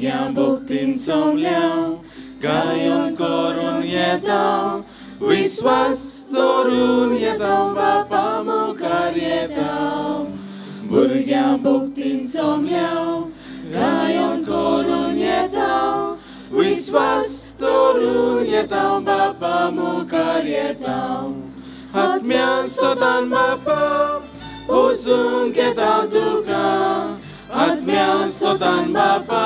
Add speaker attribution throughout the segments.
Speaker 1: भुरग्यां भक्तीन सोमल्या गायन करून येता विश्वास दवरून येता बापा मुखार येता. भुरग्यां भक्तीन सोमल्या गायन करून येता विश्वास दवरून येता बापा मुखार येता. आत्म्यान सोदान बापा बसूंक येता तुका आत्म्यान सोदान बापा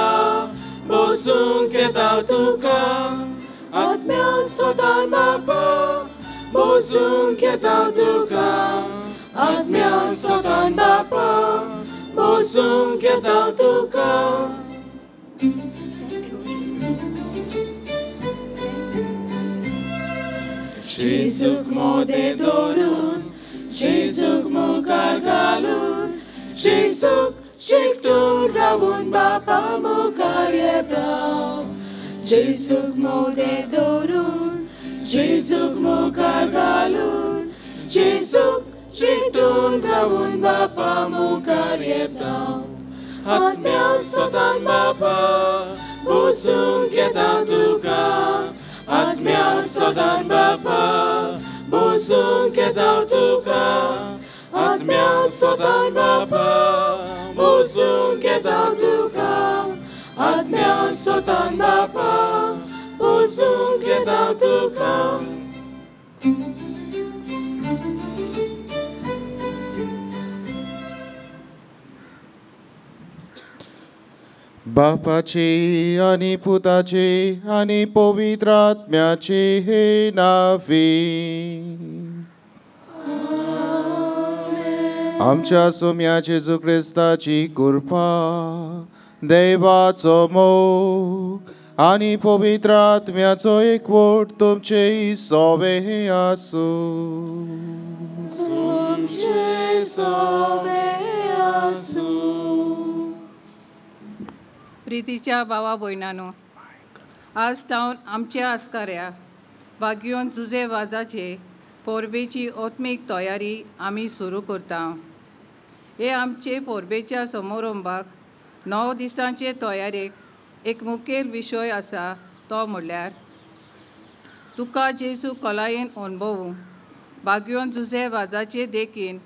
Speaker 1: बसूंक येता तुका आत्म्यान सोदान बापा बसूंक येता तुका आत्म्यान सोदान बापा बसूंक येता तुका. जेजूक मोदें दवरून जेजूक मुखार घालून जेजूक चिकटून रावून बापा मुखार येता. जेजूक मोदें दवरून जेजूक मुखार घालून जेजूक चिकटून रावून बापा मुखार येता. आत्म्यान सोदान बापा बसूंक येता तुका आत्म्यान सोदान बापा बसूंक येता तुका आत्म्यान सोदान बापा बसूंक येता तुका आत्म्यान सोदान बापा बसूंक येता तुका.
Speaker 2: बापाची आनी पुताची आनी पवित्र आत्म्याची हे नावी आमच्या सोम्या जेजू क्रिस्ताची कृपा देवाचो मोग आनी पवित्र आत्म्याचो एकवट तुमचे सोवे आसूं.
Speaker 1: तुमचे सोवे आसूं.
Speaker 3: प्रितीच्या भावा भयणानो, आज तावन आमच्या आस्काऱ्या बागयोन जुजे वाजाचे परबेची आत्मीक तयारी आमी सुरू करता. हे आमचे परबेच्या समारंभाक 9 दिसांचे तयारेक एक मुखेल विशय आसा तो म्हणल्यार तुका जेजू कलायेन अणभवूं बागयोन जुजे वाजाचे देखीन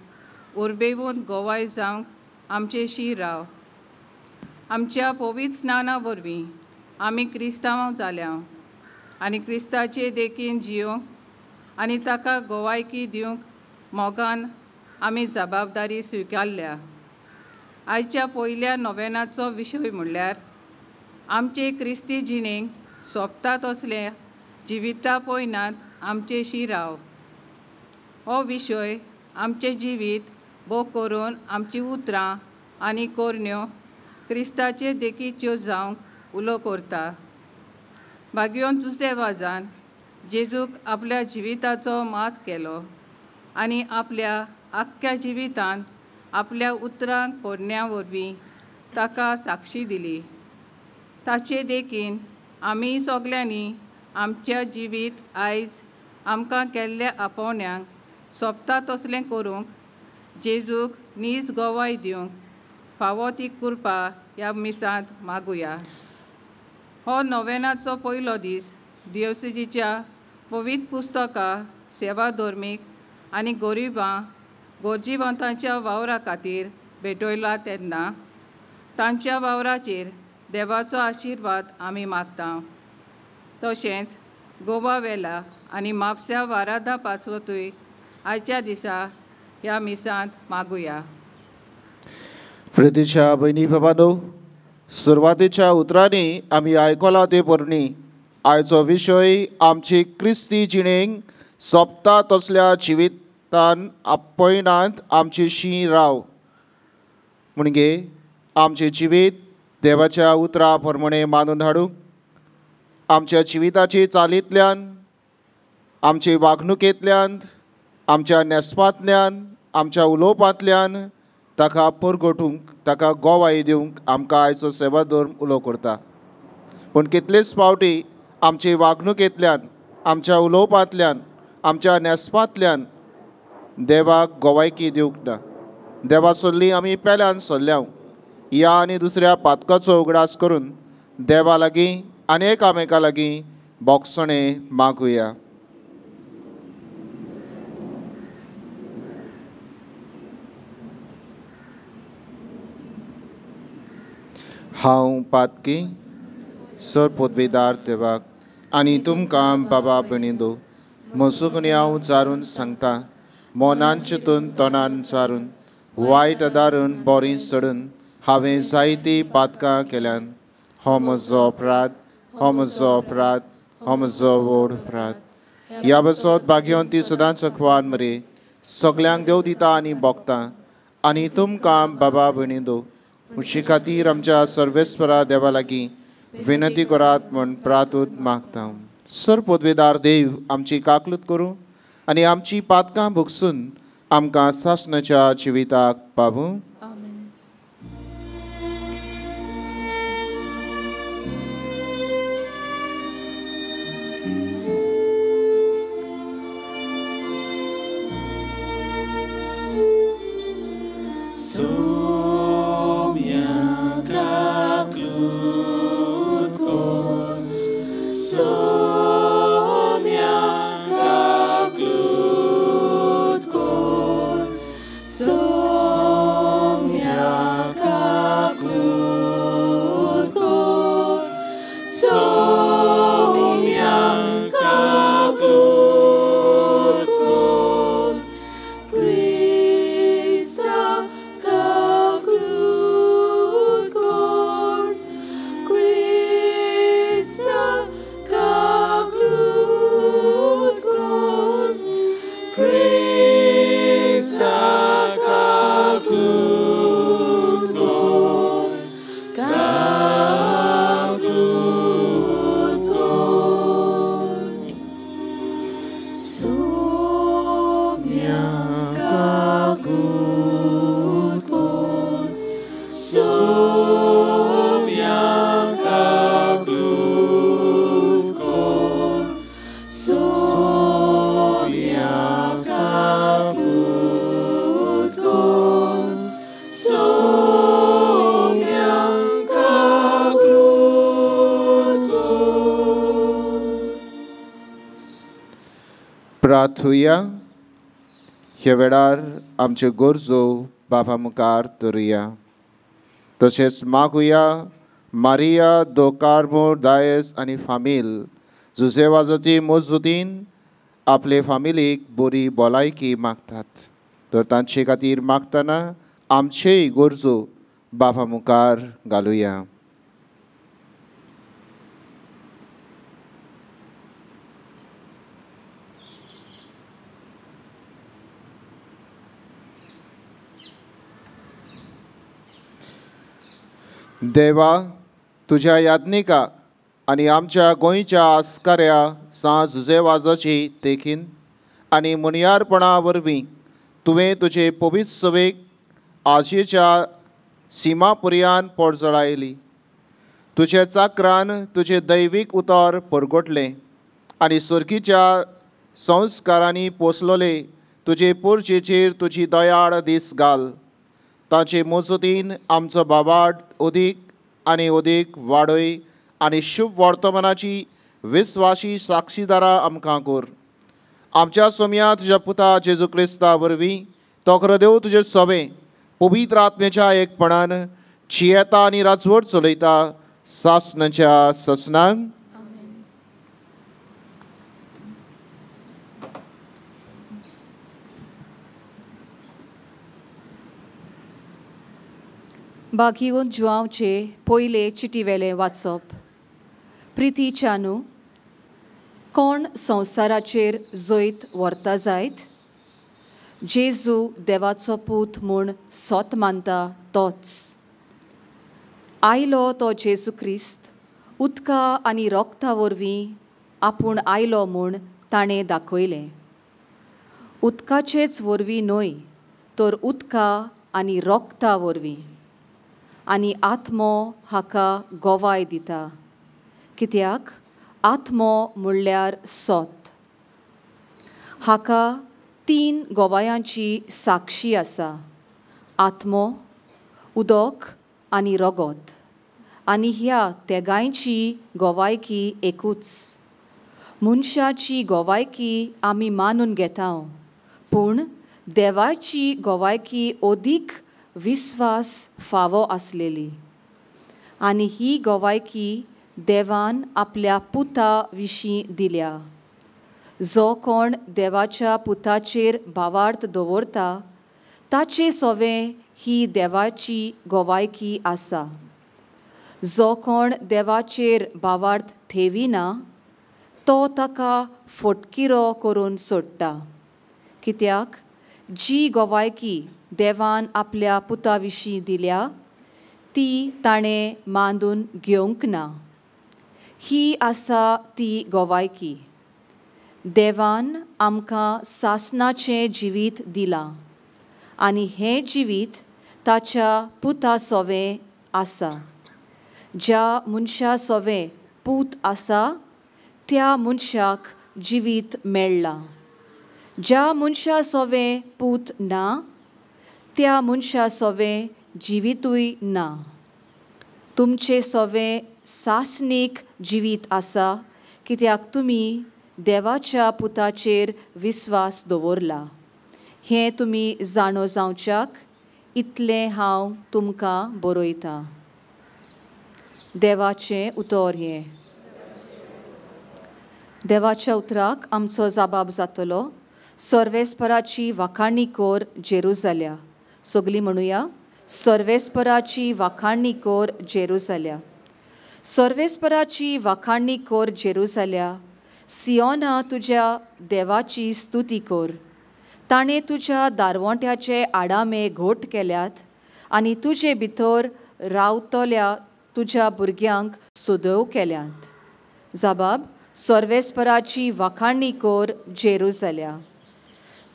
Speaker 3: उर्बेवून गोवाय जावंक आमचेशी राव. आमच्या पवित्र स्नाना वरवीं आमी क्रिस्तांव जाल्या आनी क्रिस्ताचे देखीन जियोंक आनी ताका गोवायकी दिवंक मोगान आमी जबाबदारी स्विकारल्या. आयच्या पयल्या नोवेनाचो विशय म्हणल्यार आमचे क्रिस्ती जिणेक सोंपता तसल्या जिविता पयनात आमचेशी राव. हो विशय आमचें जिवीत भोग करून आमचीं उतरां आनी करण्यो क्रिस्ताचे देखीच्यो जावंक उलो करता. बागयोन जुजे वाजान जेजूक आपल्या जिविताचो मास केलो आनी आपल्या आख्ख्या जिवितान आपल्या उतरांक करण्या वरवीं ताका साक्षी दिली. ताचे देखीन आमी सगल्यांनी आमच्या जिवीत आयज आमकां केल्ल्या आपोवण्यांक सोंपता तसलें करूंक जेजूक नीज गोवाय दिवंक फावो ती कृपा ह्या मिसांत मागुया. हो नोवेनाचो पयलो दीस दियोसिजीच्या पवित्र पुस्तकां सेवा धर्मीक आनी गरिबां गरजेवंतांच्या वावरा खातीर भेटयला तेन्ना तांच्या वावराचेर देवाचो आशिर्वाद आमी मागता. तशेंच गोवा वेला आनी म्हापश्या वारादा पासतूय आयच्या दिसा ह्या मिसांत मागुया.
Speaker 2: प्रितीच्या भयणी बाबांनो, सुरवातेच्या उतरांनी आमी आयकला ते पोरणी आयचो विशय आमची क्रिस्ती जिणेक सोंपता तसल्या जिवितान आपयनात आमची शी राव. म्हणजे आमचें जिवीत देवाच्या उतरा प्रमाणे मानून हाडूंक आमच्या जिविताची चालींतल्यान आमचे वागणुकेंतल्यान आमच्या न्हेसपांतल्यान आमच्या उलोवपांतल्यान ताका परगटूंक ताका गोवाय दिवंक आमकां आयचो सेवा धर्म उलो करता. पूण कितलेच फावटी आमचे वागणुकेंतल्यान आमच्या उलोवपांतल्यान आमच्या न्हेसपांतल्यान देवाक गोवायकी दिवंक ना. देवा सोल्ली आमी पेल्यान सोल्ल्या ह्या आनी दुसऱ्या पातकाचो उगडास करून देवा लागीं आनी एकामेका लागीं बोगसणें मागुया. हांव पातकी सर पदवीदार देवाक आनी तुमकां बाबा भयणींनो म्हजो हांव चारून सांगता, मनान चिंतून तोंडान चारून वायट आदारून बोरी सोडून हांवें जायतीं पातकां केल्यान. हो म्हजो अपराध, हो म्हजो अपराध, हो म्हजो व्हड अपराध. ह्या बसत भाग्यवंती ती सदांच अखवान मरे सगल्यांक देव दिता आनी भोगता आनी तुमकां बाबा भयणींनो म्हजे खातीर आमच्या सर्वेस्वरा देवा लागीं विनंती करात म्हूण प्रातूत मागता. सर पदवेदार देव आमची काकलूत करूं आनी आमची पातकां भोगसून आमकां सासणाच्या जिविताक पावूं. प्रार्थुया. ह्या वेळार आमच्यो गरजो बापा मुखार धरुया. तशेंच मागुया मारिया दो कार्मो डायस आनी फामील जुजे वाजाची मजदूतीन आपले फामिलीक बरी भलायकी मागतात, तर तांचे खातीर मागतना आमचेय गरजो बापा मुखार घालुया. देवा तुज्या याज्ञिका आनी आमच्या गोंयच्या आस्काऱ्या सां जुजे वाजाची देखीन आनी मुनियारपणा वरवीं तुवें तुजे पवित्र सवेक आशेच्या सीमा पुर्यान पोरजळायली. तुज्या चाकरान तुजें दैवीक उतर परगटलें आनी सर्गीच्या संस्कारांनी पोसलोले तुजे पोरचेचेर तुजी दयाळ दीस घाल. ताचे मजतीन आमचो बाबाट अदीक आनी अदीक वाडय आनी शुभ वर्तमानाची विस्वाशी साक्षीदारां आमकां कर. आमच्या सोम्या तुज्या पुता जेजू क्रिस्ता वरवीं तो खरो देव तुजे सोबें पवित्र आत्म्याच्या एकपणान जियेता आनी राजवट चलयता सासणाच्या ससनांक.
Speaker 4: बागीवन जुआंवचे पयले चिटीवेलें वाचप. प्रिती चानू, कोण संवसाराचेर जैत व्हरता जायत? जेजू देवाचो पूत म्हूण सोत मानता तोच. आयलो तो जेजू क्रिस्त उदका आनी रोगता वरवीं आपूण आयलो म्हूण ताणें दाखयलें. उदकाचेच वरवीं न्हय तर उदका आनी रोगता वरवीं. आनी आत्मो हाका गोवाय दिता, कित्याक आत्मो म्हणल्यार सोत. हाका तीन गोवायांची साक्षी आसा, आत्मो, उदक आनी रगत, आनी ह्या तेगांयची गवायकी एकूच. मनशाची गवायकी आमी मानून घेता, पूण देवाची गवायकी अदीक विस्वास फावो आसलेली. आनी ही गवायकी देवान आपल्या पुता विशीं दिल्या. जो कोण देवाच्या पुताचेर भावार्थ दवरता ताचे सवें ही देवाची गवायकी आसा. जो कोण देवाचेर भावार्थ ठेविना तो ताका फटकिरो करून सोडटा, कित्याक जी गवायकी देवान आपल्या पुता विशीं दिल्या ती ताणें मांदून घेवंक ना. ही आसा ती गवायकी, देवान आमकां सासणाचें जिवीत दिलां आनी हें जिवीत ताच्या पुता सोवें आसा. ज्या मनशा सोवें पूत आसा त्या मनशाक जिवीत मेळ्ळां. ज्या मनशा सोवें पूत ना त्या मनशा सोवें जिवितूय ना. तुमचे सोवें सासणीक जिवीत आसा, कित्याक तुमी देवाच्या पुताचेर विस्वास दवरला. हें तुमी जाणो जावच्याक इतलें हांव तुमकां बरयतां. देवाचें उतर हें. देवाच्या उतराक आमचो जबाब जातलो. सर्वेस्पराची वाखाणी कोर जेरुजाल्या. सगळीं म्हणुया, सर्वेस्पराची वाखाणी कोर जेरुजाल्या. सर्वेस्पराची वाखाणी कोर जेरुजाल्या. सियोना तुज्या देवाची स्तुती कर. ताणें तुज्या दारवंट्याचे आडामे घोट केल्यात आनी तुजे भितर रावतल्या तुज्या भुरग्यांक सदव केल्यात. जबाब, सर्वेस्पराची वाखाणी कोर जेरुजाल्या.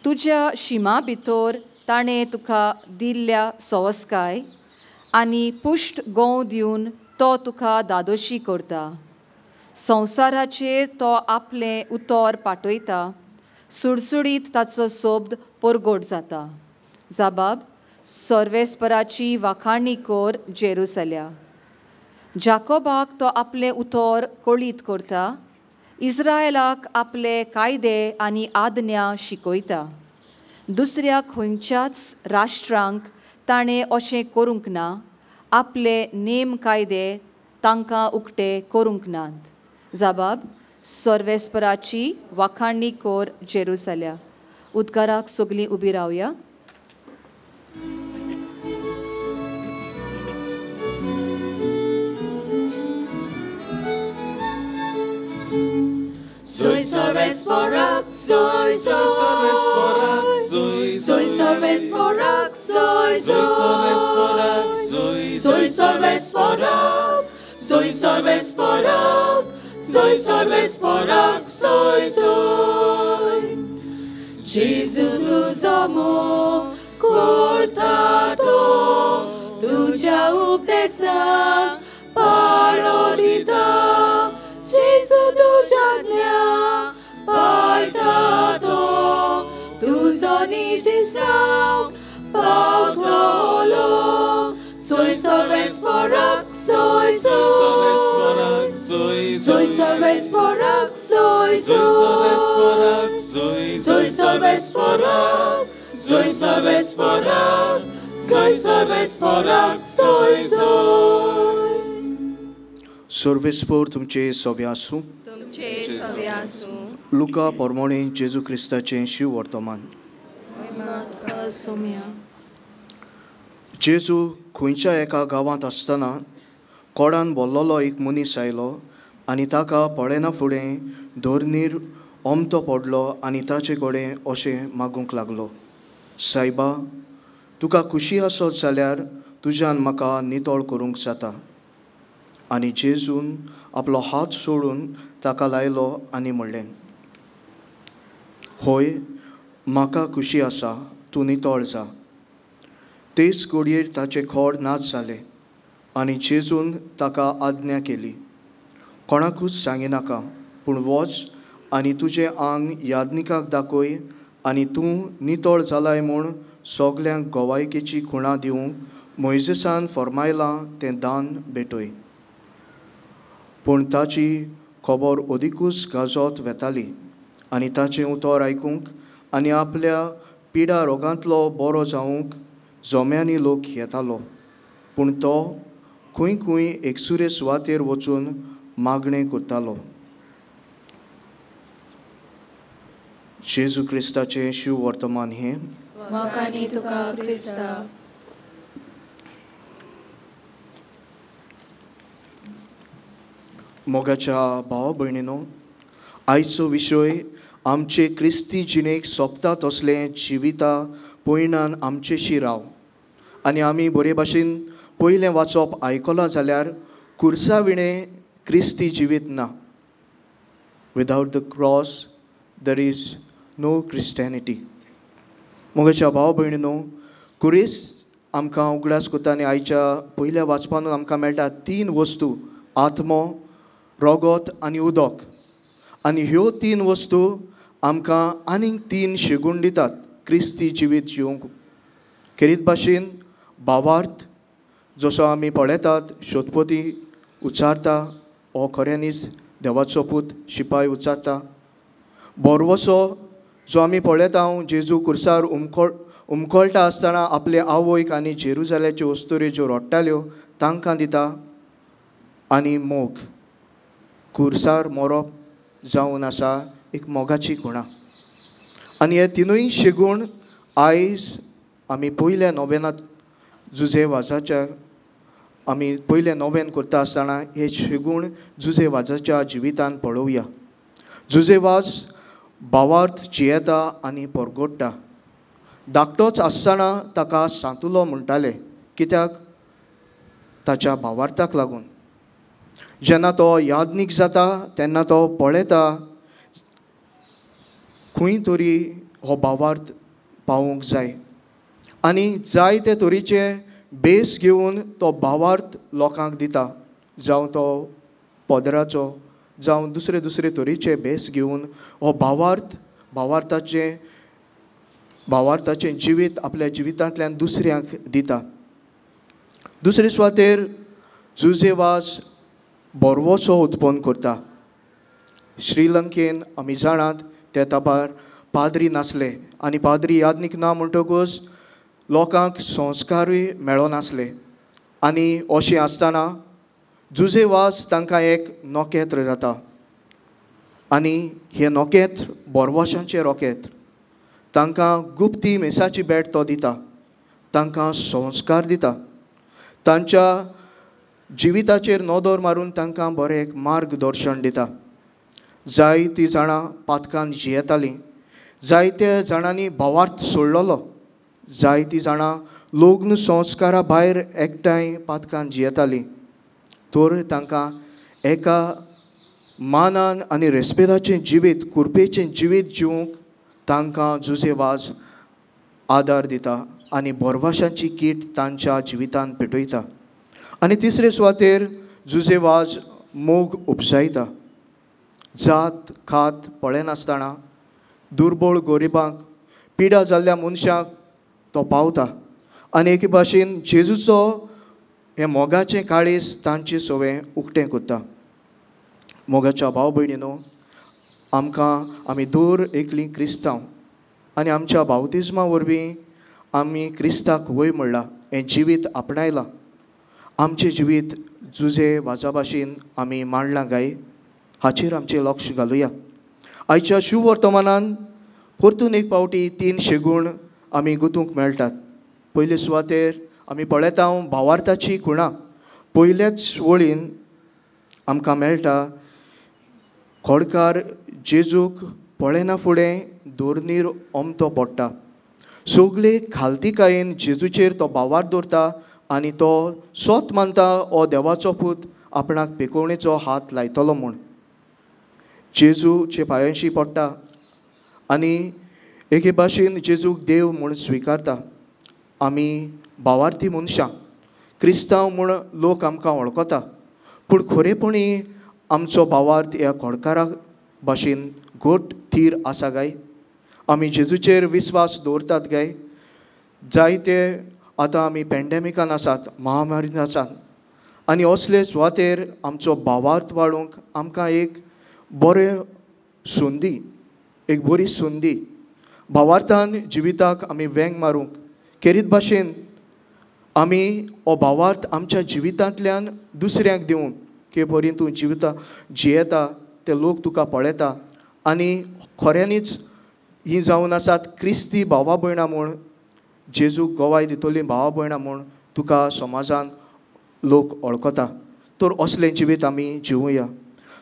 Speaker 4: तुज्या शिमा भितर ताणें तुका दिल्ल्या सवस्काय आनी पुश्ट गोंव दिवन तो तुका दादोशी करता. संवसाराचेर तो आपलें उतर पाठयता, सुडसुडीत ताचो शब्द परगट जाता. जबाब, सर्वेस्पराची वाखाणी कोर जेरुजाल्या. जाकोबाक तो आपलें उतर कळीत करता, इस्रायलाक आपले कायदे आनी आज्ञा शिकयता. दुसऱ्या खंयच्याच राष्ट्रांक ताणें अशें करूंक ना, आपले नेम कायदे तांकां उक्ते करूंक नात. जबाब, सर्वेस्पराची वाखाणी कोर जेरुजाल्या. उदकाराक सगळीं उबी रावया.
Speaker 1: Soy Sarvesporak, soy Sarvesporak, soy soy Sarvesporak, soy Sarvesporak, soy soy Sarvesporak, soy Sarvesporak, soy Sarvesporak, soy soy. Gesù tuzo mo cortato, tu già uptesan parolita. Gesù tu già portato, tu sonisi sau pautolo. Soy Sarvesporak, soy Sarvesporak, soy soy Sarvesporak, soy Sarvesporak, soy soy Sarvesporak, soy Sarvesporak, soy Sarvesporak, soy soy.
Speaker 5: सर्वेस्पोर तुमचे सवे आसूं. लुका पोरमोणे जेजू क्रिस्ताचें शिव वर्तमान. जेजू खंयच्या एका गांवांत आसतना कोडान बोल्लोलो एक मनीस आयलो आनी ताका पळयना फुडें धरणीर ओमतो पडलो आनी ताचे कडेन अशें मागूंक लागलो, सायबा, तुका खुशी आसत जाल्यार तुज्यान म्हाका नितळ करूंक जाता. आनी जेजून आपलो हात सोडून ताका लायलो आनी म्हणलें, होय, म्हाका खुशी आसा, तूं नितळ जा. तेच घडयेर ताचें खोड नाच जालें आनी जेजून ताका आज्ञा केली, कोणाकूच सांगिनाका, पूण वच आनी तुजें आंग याज्ञिकाक दाखय आनी तूं नितळ जालाय म्हूण सगल्यांक गवायकेची खुणा दिवंक मोयजेसान फर्मायलां तें दान भेटय. पूण ताची खबर अदिकूच गाजत वेताली आनी ताचें उतर आयकूंक आनी आपल्या पिडा रोगांतलो बरो जावंक जोम्यांनी लोक येतालो. पूण तो खंय खंय एकसुरे सुवातेर वचून मागणें करतालो. जेजू क्रिस्ताचें शिव वर्तमान हें.
Speaker 1: मोगांनी तुका क्रिस्ता.
Speaker 5: मोगाच्या भावा भयणीनो, आयचो विशय आमचे क्रिस्ती जिणेक सोंपता तसलें जिविता पयणान आमचेशी राव. आनी आमी बरे भाशेन पयलें वाचप आयकलां जाल्यार कुर्सा विणें क्रिस्ती जिवीत ना. Without the cross there is no Christianity. मोगाच्या भाव भयणीनो, कुरीस आमकां उगडास करता आनी आयच्या पयल्या वाचपानूच आमकां मेळटा तीन वस्तू, आत्मो, रोगोत आनी उदक. आनी ह्यो तीन वस्तू आमकां आनीक तीन शिगूण दितात क्रिस्ती जिवीत जिवंक. खेरीत भाशेन भावार्थ जसो आमी पळयतात, शोधपती उच्चारता, हो खऱ्यांनीच देवाचो पूत, शिपाय उच्चारता. बोरवसो जो आमी पळयता, जेजू कुर्सार उमकळटा आसतना आपले आवयक आनी जेरुजाल्याच्यो अस्तुऱ्यो ज्यो रडटाल्यो तांकां दिता. आनी मोग, कुर्सार मरप जावन आसा एक मोगाची खुणा. आनी हे तिनूय शेगूण आयज आमी पयल्या नोवेनात जुजे वाजाच्या आमी पयलें नोवेन करता आसतना हे शेगूण जुजे वाजाच्या जिवितान पळोवया. जुजे वाज भावार्थ जियेता आनी परगोडटा. धाकटोच आसतना ताका सांतुलो म्हणटाले, कित्याक? ताच्या भावार्थाक लागून. जेन्ना तो याज्ञीक जाता तेन्ना तो पळयता खंय तरी हो भावार्थ पावूंक जाय आनी जाय ते तरेचे बेस घेवन तो भावार्थ लोकांक दिता. जावं तो पदराचो, जावं दुसरे दुसरे तरेचे बेस घेवन हो भावार्थ भावार्थाचें जिवीत आपल्या जिवितांतल्यान दुसऱ्यांक दिता. दुसरे सुवातेर जुजे वाज बोरवोसो उत्पन्न करता. श्रीलंकेन आमी जाणात त्या तेंपार पाद्री नासले आनी पाद्री याज्ञीक ना म्हणटकूच लोकांक संस्कारूय मेळनासले. आनी अशें आसतना जुजे वाज तांकां एक नोकेत्र जाता आनी हें नोकेत्र बोरवशांचें रोकेत्र. तांकां गुप्ती मेसाची भेट तो दिता, तांकां संस्कार दिता, तांच्या जिविताचेर नदर मारून तांकां बरें एक मार्गदर्शन दिता. जायतीं जाणां पातकान जियेतालीं, जायत्या जाणांनी भावार्थ सोडलेलो, जायतीं जाणां लग्न संस्कारा भायर एकठांय पातकान जियेतालीं. तर तांकां एका मानान आनी रेस्पेदाचें जिवीत, कुरपेचें जिवीत जिवंक तांकां जुजे वाज आदार दिता आनी बोरवाशांची कीट तांच्या जिवितान पेटयता. आनी तिसरे सुवातेर जुजे वाज मोग उपजायता. जात खात पळयनासतना दुर्बळ गरिबांक, पिडा जाल्ल्या मनशांक तो पावता आनी एके भाशेन जेजूचो हें मोगाचें काळीज तांचे सवें उक्तें करता. मोगाच्या भाव भयणीनो, आमकां आमी दर एकलीं क्रिस्तांव आनी आमच्या बावतिज्मा वरवीं आमी क्रिस्ताक वय म्हणलां, हें जिवीत आपणायलां. आमचें जिवीत जुजे वाजा भाशेन आमी मांडलां काय हाचेर आमचें लक्ष घालुया. आयच्या शुवर्तमानान परतून एक पावटी तीन शेगूण आमी गुतूंक मेळटात. पयले सुवातेर आमी पळयता भावार्थाची खुणा. पयल्याच वळीन आमकां मेळटा, खोडकार जेजूक पळयना फुडें दोरनीर ओमतो पडटा. सगळे खालतीकायेन जेजूचेर तो भावार्थ दवरता आनी तो सोत मानता हो देवाचो पूत आपणाक पेकोवणेचो हात लायतलो म्हूण. जेजूचे पांयांशी पडटा आनी एके भाशेन जेजूक देव म्हूण स्विकारता. आमी भावार्थी मनशां, क्रिस्तांव म्हूण लोक आमकां वळखता, पूण खरेपणी आमचो भावार्थ ह्या खोडकारा भाशेन घट थीर आसा काय? आमी जेजूचेर विस्वास दवरतात काय? जायते आतां आमी पेंडेमिकान आसात, महामारीन आसात आनी असले सुवातेर आमचो भावार्थ वाडोवंक आमकां एक बरें संदी, एक बरी संदी. भावार्थान जिविताक आमी वेंग मारूंक खेरीत भाशेन आमी हो भावार्थ आमच्या जिवितांतल्यान दुसऱ्यांक दिवंक के परी तूं जिविता जियेता ते लोक तुका पळयता आनी खऱ्यांनीच हीं जावन आसात क्रिस्ती भावा भयणां म्हूण, जेजूक गवाय दितली भावा भयणां म्हूण तुका समाजान लोक वळखता. तर असलें जिवीत आमी जिवुया.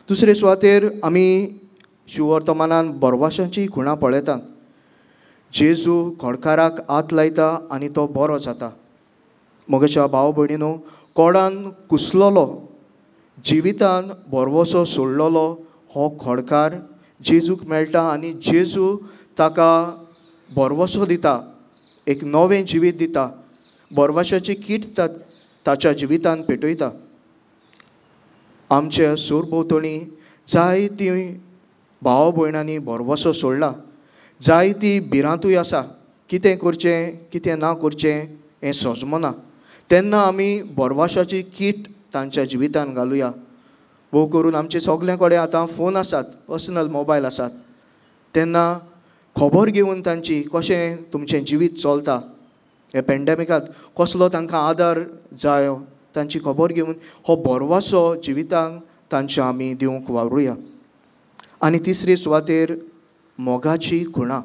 Speaker 5: दुसरे सुवातेर आमी शिववर्तमानान बरवाशांची खुणां पळयतात. जेजू खोडकाराक हात लायता आनी तो बरो जाता. म्हज्या भाव भयणीनो, कोडान कुसलोलो, जिवितान भरवसो सोडलेलो हो खोडकार जेजूक मेळटा आनी जेजू ताका भरवसो दिता, एक नवें जिवीत दिता, भरवशाची कीट ताच्या जिवितान पेटयता. आमच्या सरभोंवतणी जायती भाव भयणांनी भरवसो सोडला, जायती भिरांतूय आसा, कितें करचें कितें ना करचें हें सजमना. तेन्ना आमी भरवशाची कीट तांच्या जिवितान घालुया. भोव करून आमचे सगल्या कडेन आतां फोन आसात, पर्सनल मोबायल आसात. तेन्ना खबर घेवन तांची कशें तुमचें जिवीत चलता, हे पेंडेमिकांत कसलो तांकां आदार जायो तांची खबर घेवन हो भरवसो जिवितांक तांच्या आमी दिवंक वावरुया. आनी तिसरे सुवातेर मोगाची खुणां.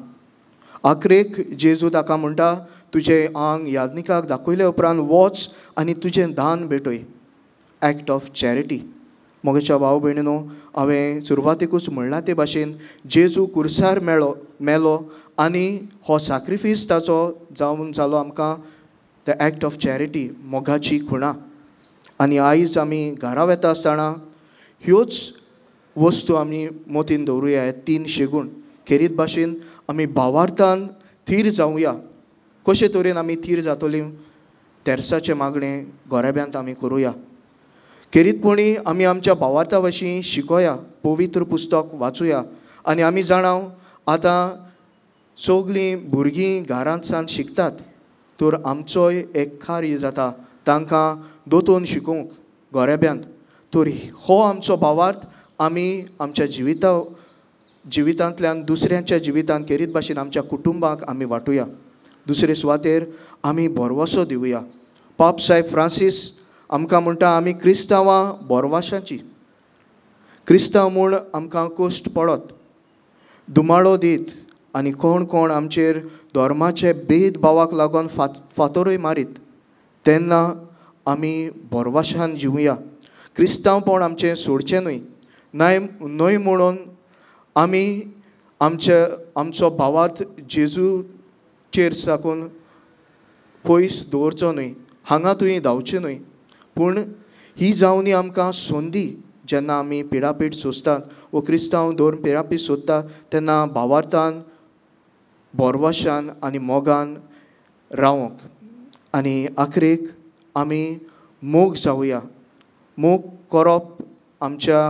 Speaker 5: आखरेक जेजू ताका म्हणटा, तुजें आंग याज्ञिकाक दाखयले उपरांत वच आनी तुजें दान भेटय, एक्ट ऑफ चॅरिटी. म्हज्या भाव भयणीनो, हांवें सुरवातेकूच म्हणलां ते भाशेन जेजू कुर्सार मेलो आनी हो साक्रिफीस ताचो जावन जालो आमकां the act of charity, मोगाची खुणां. आनी आयज आमी घरा वता आसतना ह्योच वस्तू आमी मतीन दवरुया, हे तीन शेगूण. खेरीत भाशेन आमी भावार्थान थीर जावया. कशे तरेन आमी थीर जातली? तेर्साचें मागणें गोरेब्यांत आमी करुया. खेरीतपणी आमी आमच्या भावार्था वशीं शिकोया, पवित्र पुस्तक वाचुया. आनी आमी जाणाव आतां सगळीं भुरगीं घरांत सावन शिकतात, तर आमचोय एक कार्य जाता तांकां दोतोन शिकोवंक गोरेब्यांत. तर हो आमचो भावार्थ आमी आमच्या जिवितांतल्यान दुसऱ्यांच्या जिवितांत खेरीत भाशेन आमच्या कुटुंबाक आमी वांटुया. दुसरे सुवातेर आमी भरवसो दिवया. पाप साहेब फ्रांसीस आमकां म्हणटा, आमी क्रिस्तांवां भरवशाची, क्रिस्तांव म्हूण आमकां कश्ट पडत, दुमाळो दीत आनी कोण कोण आमचेर धर्माचे भेदभावाक लागून फातरूय मारीत, तेन्ना आमी भरवशान जिवया. क्रिस्तांवपण आमचें सोडचें न्हय, न्हय म्हणून आमी आमचो भावार्थ जेजूचेर साकून पयस दवरचो न्हय, हांगा थंय धांवचें न्हय. पूण ही जावनी आमकां संदी, जेन्ना आमी पिडापीड सोंसतात वो क्रिस्तांव धर्म पिडापीड सोदता तेन्ना भावार्थान, भरवशान आनी मोगान रावंक. आनी आखरेक आमी मोग जावया. मोग करप आमच्या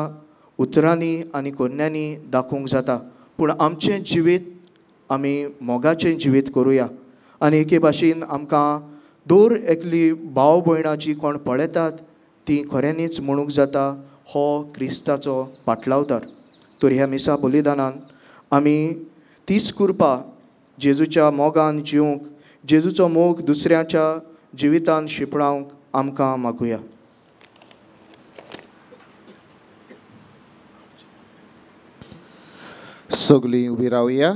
Speaker 5: उतरांनी आनी करण्यांनी दाखोवंक जाता, पूण आमचें जिवीत आमी मोगाचें जिवीत करुया. आनी एके भाशेन आमकां दर एकली भाव भयणां जी कोण पळयतात ती खऱ्यांनीच म्हणूंक जाता हो क्रिस्ताचो पाटलावदार. तर ह्या मिसा बलिदानान आमी तीच कृपा जेजूच्या मोगान जिवंक, जेजूचो मोग दुसऱ्याच्या जिवितान शिंपडावंक आमकां मागुया.
Speaker 2: सगळीं उबी रावया.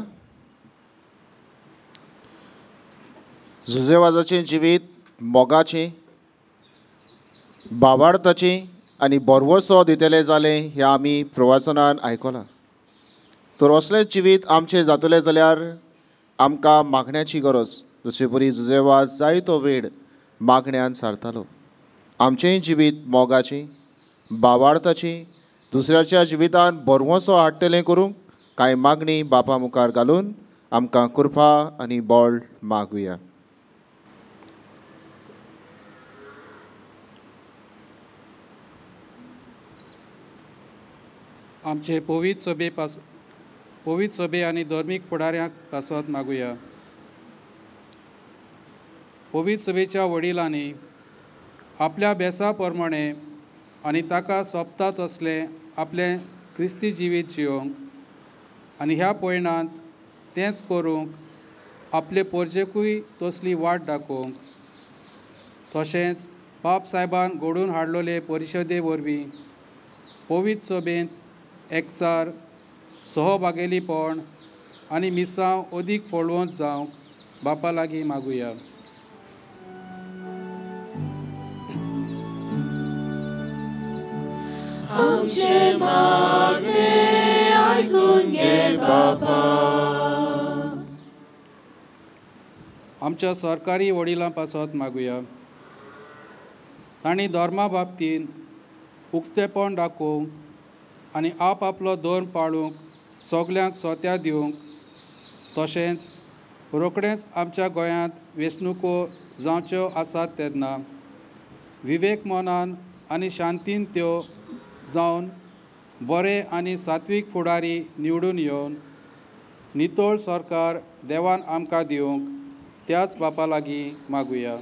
Speaker 2: जुजेवाजाचें जिवीत मोगाचें, भावार्थाचें आनी भरवसो दितलें जालें हें आमी प्रवासनान आयकलां. तर असलें जिवीत आमचें जातलें जाल्यार आमकां मागण्याची गरज. जशे परी जुजेवाज जायतो वेळ मागण्यान सारतालो. आमचेंय जिवीत मोगाचें, भावार्थाचें, दुसऱ्याच्या जिवितान भरवसो हाडटलें करूंक कांय मागणी बापा मुखार घालून आमकां कृपा आनी बळ मागुया.
Speaker 6: आमचे पवित्र सभे आनी धर्मीक फुडाऱ्यांक पासत मागुया. पवित्र सभेच्या वडिलांनी आपल्या बेसा प्रमाणे आनी ताका सोबता तसलें आपलें क्रिस्ती जिवीत जियोंक आनी ह्या पयणांत तेंच करूंक आपले पोरजेकूय तसली वाट दाखोवंक, तशेंच बाप सायबान घडोवन हाडलेले परिशदे वरवीं पवित्र सभेंत एकचार, सहभागेलीपण आनी मिसांव अदीक फळवंत जावंक बापा लागीं मागुया.
Speaker 1: आमचें मागणें आयकून घे बापा.
Speaker 6: आमच्या सरकारी वडिलां पासत मागुया. तांणी धर्मा बाबतींत उक्तेपण दाखोवंक आनी आप आपलो धर्म पाळूंक सगल्यांक सोत्या दिवंक, तशेंच रोखडेंच आमच्या गोंयांत वेंचणुको जावच्यो आसात तेन्ना विवेक मनान आनी शांतीन त्यो जावन बरे आनी सात्वीक फुडारी निवडून येवन नितळ सरकार देवान आमकां दिवंक त्याच बापा लागीं मागुया.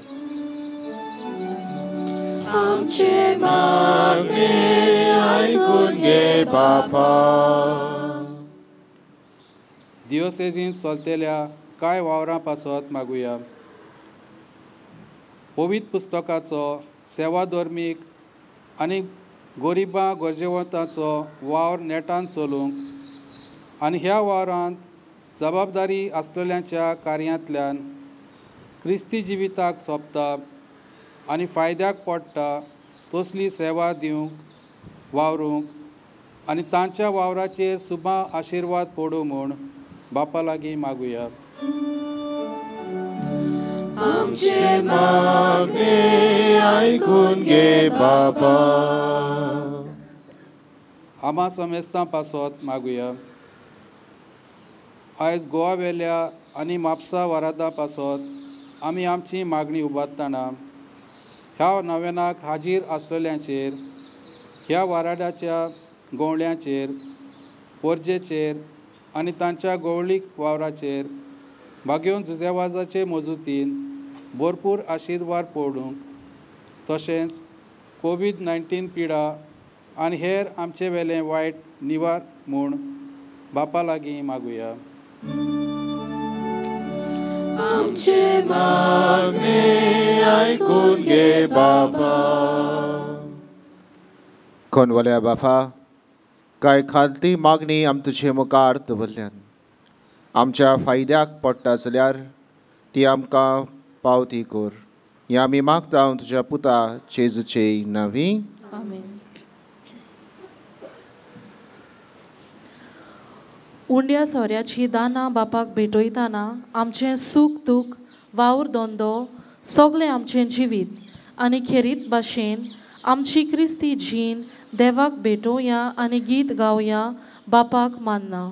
Speaker 1: आमचें मागणें आयकून घे बापा.
Speaker 6: दियोसेजींत चलतल्या कांय वावरां पासत मागुया. पवित्र पुस्तकाचो सेवा धर्मीक आनी गरिबां गरजेवंतांचो वावर नेटान चलूंक आनी ह्या वावरांत जबाबदारी आसलेल्यांच्या कार्यांतल्यान क्रिस्ती जिविताक सोबता आनी फायद्याक पडटा तसली सेवा दिवंक वावरूंक आनी तांच्या वावराचेर सुबा आशिर्वाद पडूं म्हूण बापा लागीं मागुया.
Speaker 1: आमचें मागणें आयकून घे बापा.
Speaker 6: आमा समेस्तां पासत मागुया. आयज गोवा वेल्या आनी म्हापसा वारादा पासत आमी आमची मागणी उबारतना ह्या नव्यानाक हाजीर आसलेल्यांचेर, ह्या वाराडाच्या गवळ्यांचेर, पोरजेचेर आनी तांच्या गवळीक वावराचेर भाग्योन जुजेवाजाचे मजुतीन भरपूर आशिर्वाद पडूंक, तशेंच कोवीड-19 पिडा आनी हेर आमचे वेलें वायट निवार म्हूण बापा लागीं मागुया.
Speaker 1: आमचें मागणें आयकून घे बापा.
Speaker 2: कोनवल्या बापा, कांय खालती मागणी आम तुजे मुखार दवरल्यान आमच्या फायद्याक पडटा जाल्यार ती आमकां पावती कर. हें आमी मागता तुज्या पुता जेजूचे नांवी.
Speaker 1: आमेन.
Speaker 7: उंड्या सोऱ्याची दानां बापाक भेटयतना आमचें सूख दूख, वावर धंदो सगळें आमचें जिवीत आनी खेरीत भाशेन आमची क्रिस्ती जीण देवाक भेटोवया आनी गीत गावया बापाक मानना.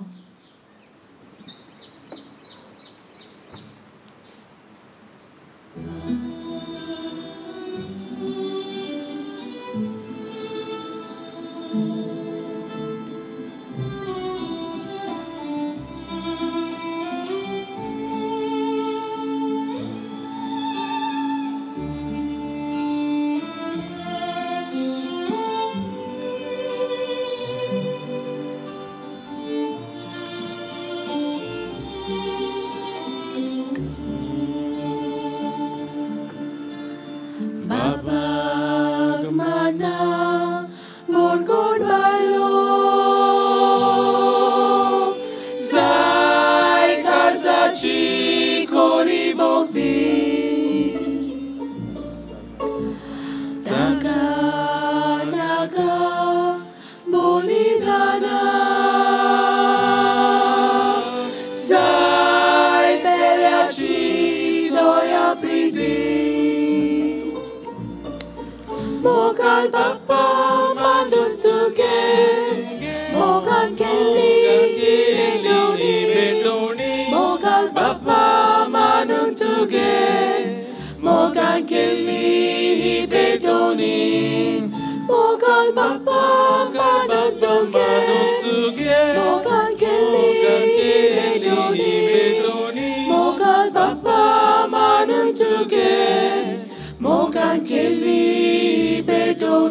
Speaker 1: Mogan Kelly.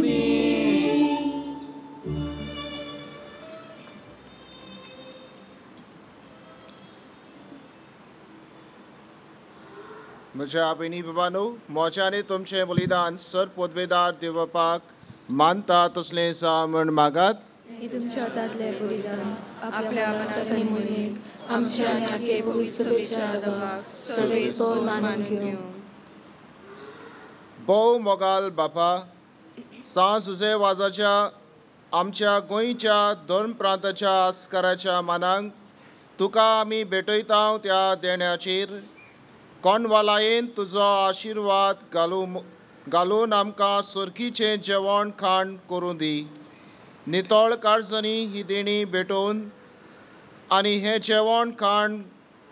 Speaker 1: दी.
Speaker 2: म्हज्या भयणी बाबांनो, म्हजें आनी तुमचें बलिदान सर पदवेदार देवपाक मानता तसलें जावं म्हूण मागात.
Speaker 8: हे तुमच्या हातांतलें बलिदान आपल्या मनाक आनी मोहिमेक आमच्या आनी आखे पवित्र सभेच्या दबाक सर्वेस्पर मानून घेवंक.
Speaker 2: भोव मोगाल बापा, सांव जुझे वाजाच्या आमच्या गोंयच्या धर्म प्रांताच्या आस्काराच्या मानांक तुका आमी भेटयता त्या देण्याचेर कोणवालायेन तुजो आशिर्वाद घालून आमकां सुरकीचें जेवण खाण करूं दी. नितळ काळजांनी ही देणी भेटोवन आनी हें जेवण खाण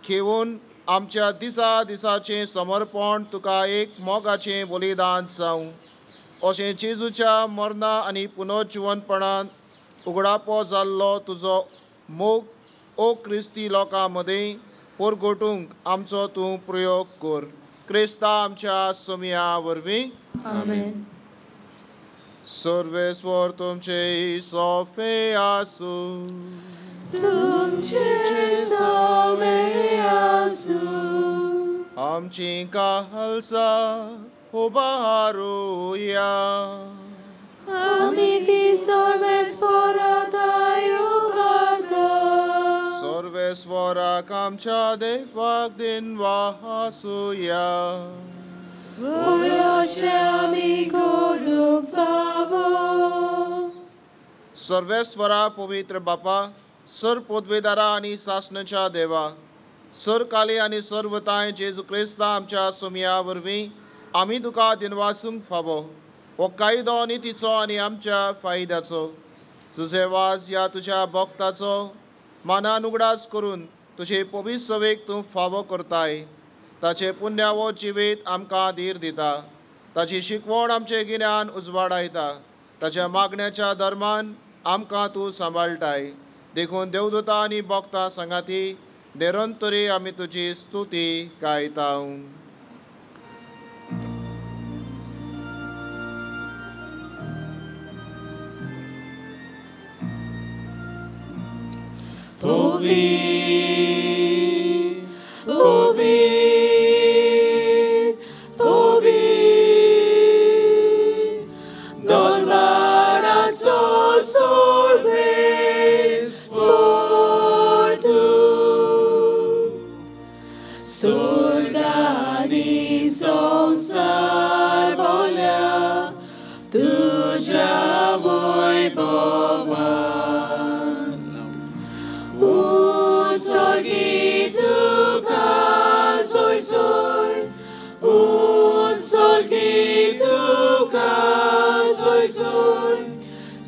Speaker 2: घेवन आमच्या दिसा दिसाचें समर्पण तुका एक मोगाचें बलिदान जावं. अशें जेजूच्या मरणा आनी पुनर्जिवनपणान उगडापो जाल्लो तुजो मोग ओ क्रिस्ती लोकां मदीं परगटूंक आमचो तूं प्रयोग कर. क्रिस्ता आमच्या सोमया वरवीं.
Speaker 8: आमेन.
Speaker 2: सर्वेस्वर तुमचे सोफे आसूं.
Speaker 1: तुमचे सोवे आसूं.
Speaker 2: आमची काहलसा उबारुया.
Speaker 1: आमी ती सर्वेस्पराक उबारता.
Speaker 2: सर्वेस्वराक आमच्या देवाक दिनवासुया.
Speaker 1: अशें आमी करूंक फावो.
Speaker 2: सर्वेस्वरा पवित्र बापा, सर पदवेदारा आनी सासणाच्या देवा, सरकाली आनी सर्वताय जेजू क्रिस्ता आमच्या सोमया वरवीं आमी तुका दिनवासूंक फावो. हो कायदो आनी तिचो आनी आमच्या फायद्याचो तुजे वाज ह्या तुज्या भक्ताचो मानान उगडास करून तुजे पवित्र सवेक तूं फावो करताय. ताचें पुण्यावो जिवीत आमकां धीर दिता. ताची शिकवण आमचें गिन्यान उजवाडायता. ताच्या मागण्याच्या धर्मान आमकां तूं सांबाळटाय. देखून देवदूता आनी भक्तां सांगाती निरंतरी आमी तुजी स्तुती गायता.
Speaker 1: Ouvir, ouvir, ouvir, Dolmarazo solves sportu, Surgani sonsar bolya, Tuja voy bovan.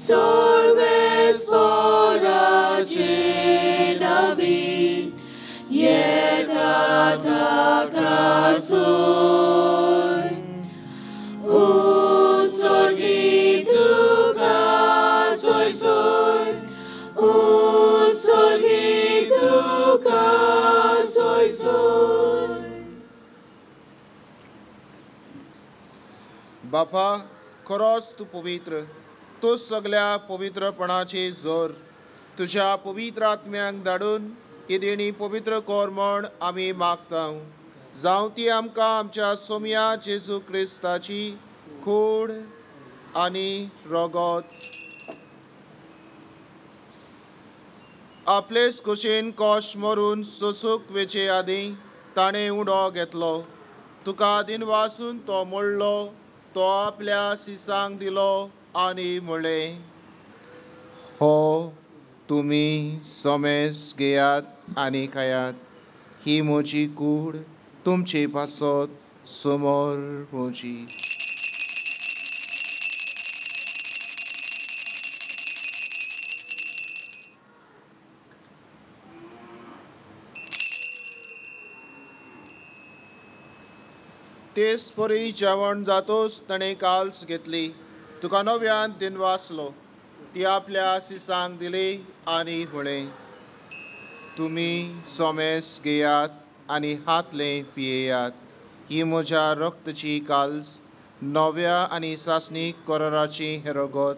Speaker 1: Sorbes vorace navi, yekatakasoy. Unsorgituka soy soy, unsorgituka soy soy.
Speaker 2: बापा, खरोच तूं पवित्र, तूं सगल्या पवित्रपणाची जोर. तुज्या पवित्र आत्म्यांक धाडून ही देणी पवित्र कर म्हण आमी मागता. जावं ती आमकां आमच्या सोमया जेजू क्रिस्ताची कूड आनी रगत. आपलेच कुशीन कोश मरून सोसूक वेचे आदीं ताणें उडो घेतलो. तुका दिनवासून तो मोडलो, तो आपल्या सिसांक दिलो आनी म्हळें, हो तुमी समेस घेयात आनी खायात. ही म्हजी कूड तुमचे पासत समोर म्हजी. तेच परी जेवण जातोच ताणें काल्स घेतली, तुका नव्यान दिनवासलो, ती आपल्या सिसांक दिली आनी म्हळें, तुमी सोमेस घेयात आनी हातलें पियेयात. ही म्हज्या रक्तची काल्स, नव्या आनी सासणीक कराराची हें रगत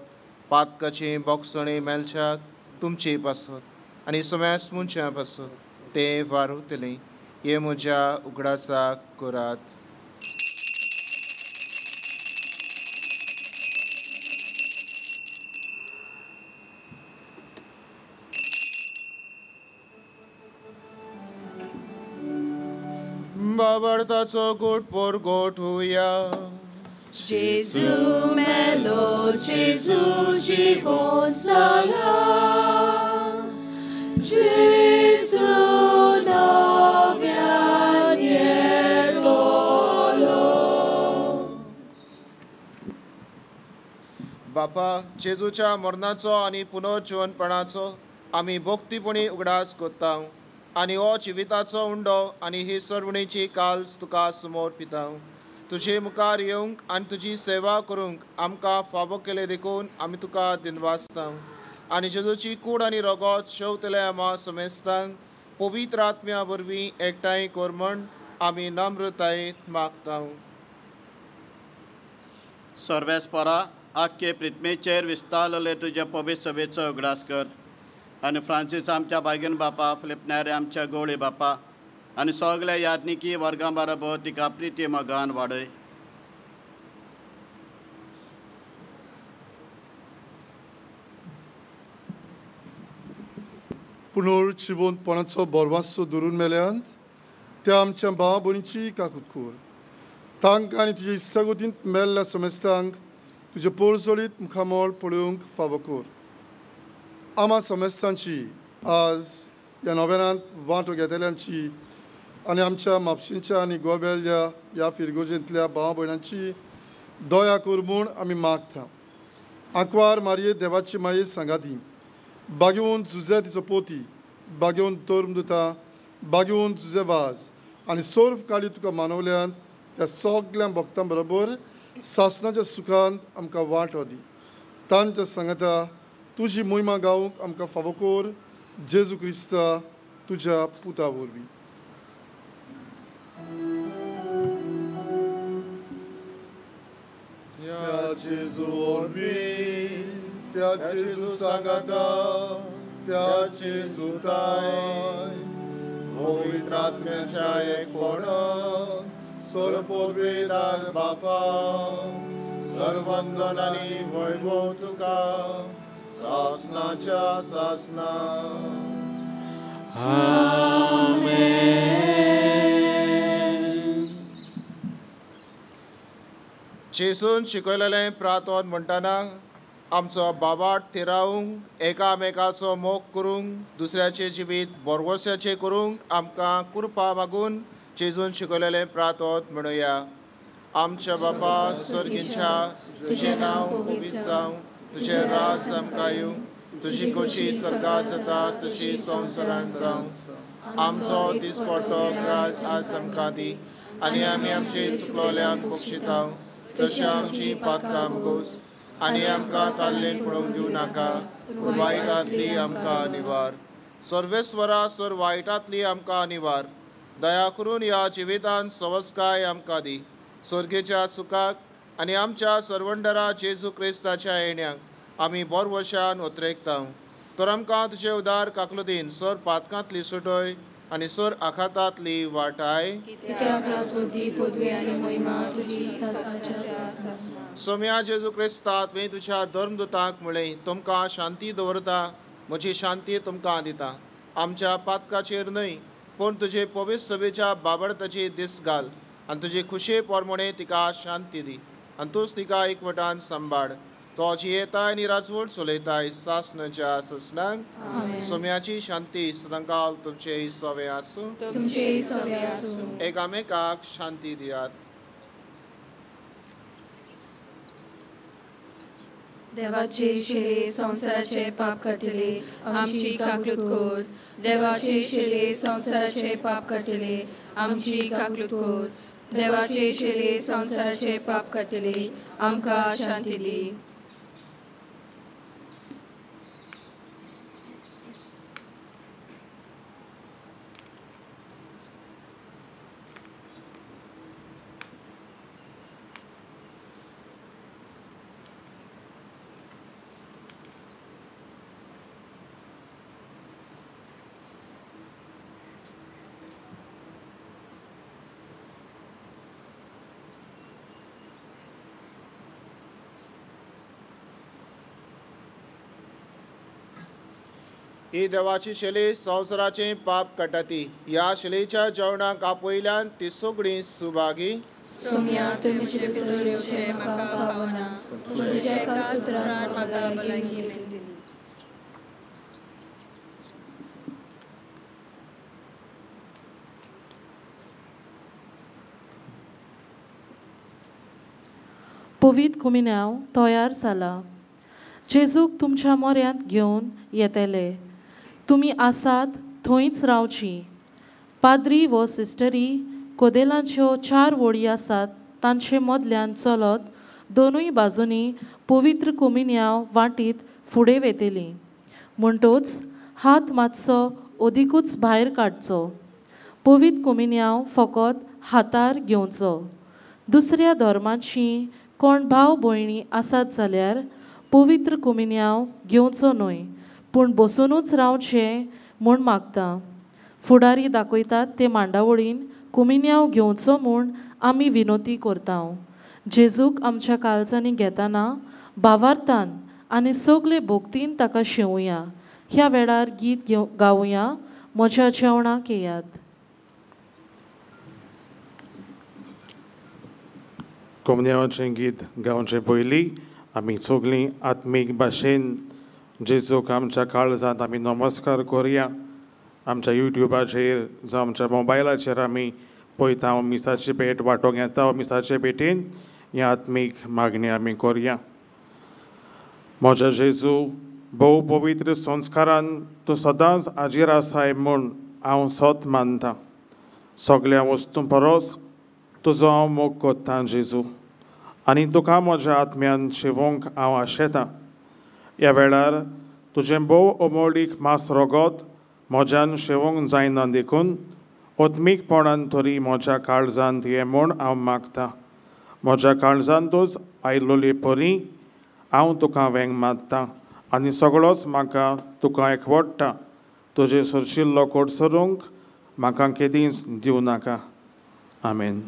Speaker 2: पातकाची बोगसणी मेळच्याक तुमचे पासत आनी समेस्त मनशां पासत तें वारुतलें. हे म्हज्या उगडासाक करात. बाबडताचो गोट पोर गोट हुया.
Speaker 1: जेजू मेलो, जेजू जिवोन जाला, जेजू नव्यान येतलो.
Speaker 2: बापा, जेजूच्या मरणाचो आनी पुनर्जिवनपणाचो आमी भक्तीपणी उगडास करता आनी हो जिविताचो उंडो आनी ही सर्वणेची काल्स तुका समोर पिता. तुजे मुखार येवंक आनी तुजी सेवा करूंक आमकां फावो केले देखून आमी तुका दिनवासता. आनी जेजूची कूड आनी रगत शेवतले आमा समेस्तांक पवित्र आत्म्या वरवीं एकठांय कर म्हण आमी नम्रतायेन मागता.
Speaker 9: सर्वेस्परा, आख्खे पृथ्वीचेर विस्तारलेले तुज्या पवित्र सभेचो उगडास कर आनी फ्रांसीस आमच्या बायगन बापा, फिलिपनारे आमच्या गोवळी बापा आनी सगल्या याज्ञिकी वर्गां बरोबर तिका प्रिती मोगान वाडय.
Speaker 10: पुनर्जिवंतपणाचो भरवासो धरून मेल्यांत त्या आमच्या भाव भयणीची काकूत कर. तांकां आनी तुज्या इश्टागतींत मेल्ल्या समेस्तांक तुजें पोरजोळीत मुखामळ पळोवंक फावो कर. आमा समेस्तांची आज ह्या नव्यानांत वांटो घेतल्यांची आनी आमच्या म्हापशेंच्या आनी गोव्याल्या ह्या फिरगोजेंतल्या भाव भयणांची दया कर म्हूण आमी मागता. आंकवार मारये देवाची माये सांगाती, बागेवन जुजे तिचो पोती, बागेवन धर्मदुता, बागेवन जुजे वाज आनी सर्व काळी तुका मानवल्यान त्या सगल्या भक्तां बरोबर सासणाच्या सुखांत आमकां वांटो दी. तांच्या सांगाता तुजी मोहिमा गावंक आमकां फावो कर, जेजू क्रिस्ता तुज्या पुता वरवीं. त्या जेजू वरवीं, त्या जेजू सांगाता, त्या जेजूताय पवित्र आत्म्याच्या एकपणान सर्वपवित्र बापा, सर्वंदन आनी वैभव तुका सासनाच्या सासना.
Speaker 1: आमेन.
Speaker 2: जेजून शिकयलेलें प्रार्थन म्हणटना आमचो बाबाट थिरावंक, एकामेकाचो मोग करूंक, दुसऱ्याचें जिवीत बोरवोसाचें करूंक आमकां कृपा मागून जेजून शिकयलेलें प्रार्थन म्हणुया. आमच्या बापा सर्गीच्या, तुजें नांव पवित्र जावं, तुजें राज आमकां येवं, तुजी खोशी सर्गात जाता तशी संवसारांत जावं. आमचो दिसपट्टो ग्रास आज आमकां दी आनी आमी आमचे चुकलोल्यांक बक्षिता तशें आमची पातकां गोस आनी आमकां ताल्लेन पळोवंक दिवं नाका, पूण वायटांतली आमकां निवार. सर्वेस्वरा, सर वायटांतली आमकां निवार. दया करून ह्या जिवितान सवस्काय आमकां दी. स्वर्गेच्या सुखाक आनी आमच्या सर्वंडरा जेजू क्रिस्ताच्या येण्याक आमी बोरवशान उतरेकता. तर आमकां तुजे उदार काकलुदीन सर पातकांतली सुटय आनी सर आखातांतली वाटाय. सोम्या जेजू क्रिस्ता, तुवें तुज्या धर्मदुतांक म्हळें, तुमकां शांती दवरता, म्हजी शांती तुमकां दिता. आमच्या पातकाचेर न्हय पूण तुजे पवित्र सभेच्या बाबडताची दीस घाल आनी तुजे खुशे पोरमोणे तिका शांती दी आनी तूंच तिका एकवटान सांबाळ. तो जियेताय आनी राजवट चलयताय सासणाच्या ससनांक. सोम्याची शांती सदांकाल तुमचे सवे आसूं. एकामेकाक शांती दियात.
Speaker 8: देवाचे शिले संवसाराचे पाप काडटले आमची काकलूत कर. देवाचे शिले संवसाराचे पाप काडटले आमची काकलूत कर. देवाचे शिले संवसाराचे पाप काडटले आमकां शांती दी.
Speaker 2: ही देवाची शैली संवसाराचें पाप काडटा ती. ह्या शैलीच्या जेवणाक आपयल्यान ती सगळीं सुभागी.
Speaker 8: सोम्या, तुवें म्हजे भितर येवचें म्हाका फावना, पूण तुज्या एका उतरान म्हाका भलायकी मेळटली.
Speaker 7: पवीत कुमिन्यांव तयार जाला. जेजूक तुमच्या मोऱ्यांत घेवन येतले. तुमी आसात थंयच रावची. पाद्री व सिस्टरी कोदेलांच्यो 4 वळी आसात तांचे मदल्यान चलत दोनूय बाजूंनी पवित्र कुमिन्यांव वांटीत फुडें वेतली. म्हणटोच हात मातसो अदिकूच भायर काडचो. पवित्र कुमिन्यांव फकत हातार घेवचो. दुसऱ्या धर्माची कोण भाव भयणी आसात जाल्यार पवित्र कुमिन्यांव घेवचो न्हय, पूण बसुनूच रावचें म्हूण मागता. फुडारी दाखयतात ते मांडावळीन कुमिन्यांव घेवचो म्हूण आमी विनोती करता. जेजूक आमच्या काळजांनी घेतना भावार्थान आनी सगळे भक्तीन ताका शेवया. ह्या वेळार गीत गावया. म्हज्या जेवणाक येयात.
Speaker 11: कोमन्यावाचें गीत गावचें पयलीं आमी सगळीं आत्मीक भाशेन जेजूक आमच्या काळजांत आमी नमस्कार करुया. आमच्या युट्युबाचेर जावं आमच्या मोबायलाचेर आमी पळयता मिसाची भेट वांटोंक येता. मिसाचे भेटीन ही आत्मीक मागणी आमी करुया. म्हज्या जेजू, भोव पवित्र संस्कारान तूं सदांच हाजीर आसाय म्हूण हांव सत मानता. सगळ्या वस्तूं परस तुजो हांव मोग कोत्ता जेजू, आनी तुका म्हज्या आत्म्यान शिवोंक हांव आशेतां. ह्या वेळार तुजें भोव अमोळीक मास रोगत म्हज्यान शेवोंक जायना देखून आत्मीकपणान तरी म्हज्या काळजांत ये म्हूण हांव मागता. म्हज्या काळजांतूच आयलोले परी हांव तुका वेंग मारता आनी सगळोच म्हाका तुका एकवडटा. तुजे सरशिल्लो कोडसरूंक म्हाका केदींच दिवं नाका. आमेन.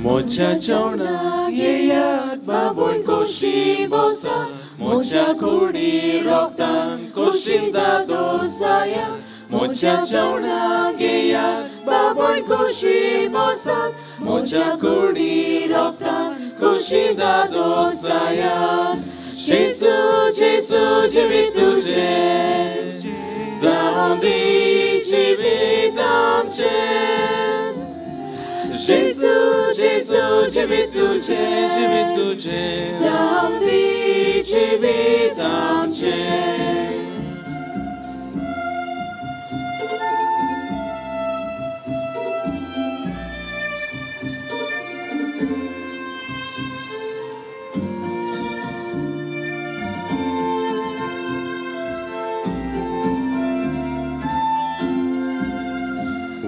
Speaker 1: म्हज्या जेवणाक येयात बाबून खोशी बसा, म्हज्या कुडी रोगतान खोशी दादोसाया. म्हज्या जेवणाक येयात बाबून खोशी बसा, म्हज्या कुडी रोगतान खोशी दादोसाया. जेजू जेजू जिवीत तुजें, जावं दी जिवीत आमचें. जेजू जेजू जिवीत तुजें, जिवीत तुजें, जावं दी जिवीत आमचें.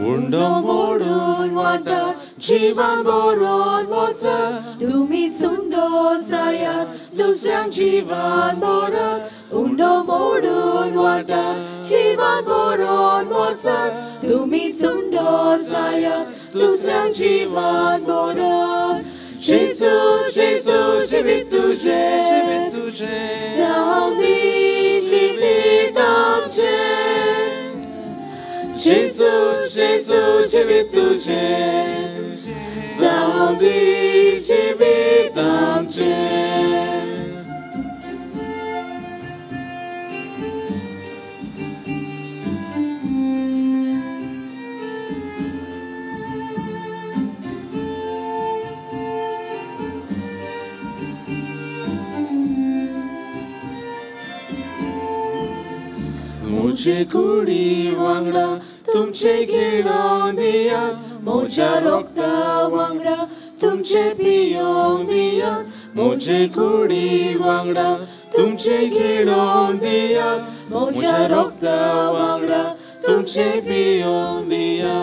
Speaker 1: उंडो मोडून वता जीवन बरोवन वचा, तुमी उंडो सायात दुसऱ्यांक जीवन बरत. उंडो मोडून वता जीवन बरोवन वचा, तुमी उंडो सायात दुसऱ्यांक जीवन बरत. जेजू जेजू जिवीत तुजें, जिवीत तुजें, जावं दी जिवीत आमचें. जेजू जेजू जिवीत तुजें, जावं दी जिवीत आमचें. म्हजे कुडी वांगडा तुमचे घेळोवन दिया, म्हज्या रोगता वांगडा तुमचे पियोवन दिया. म्हजे कुडी वांगडा तुमचे घेळोवन दिया, म्हज्या रोगता वांगडा तुमचे पियोंक दिया.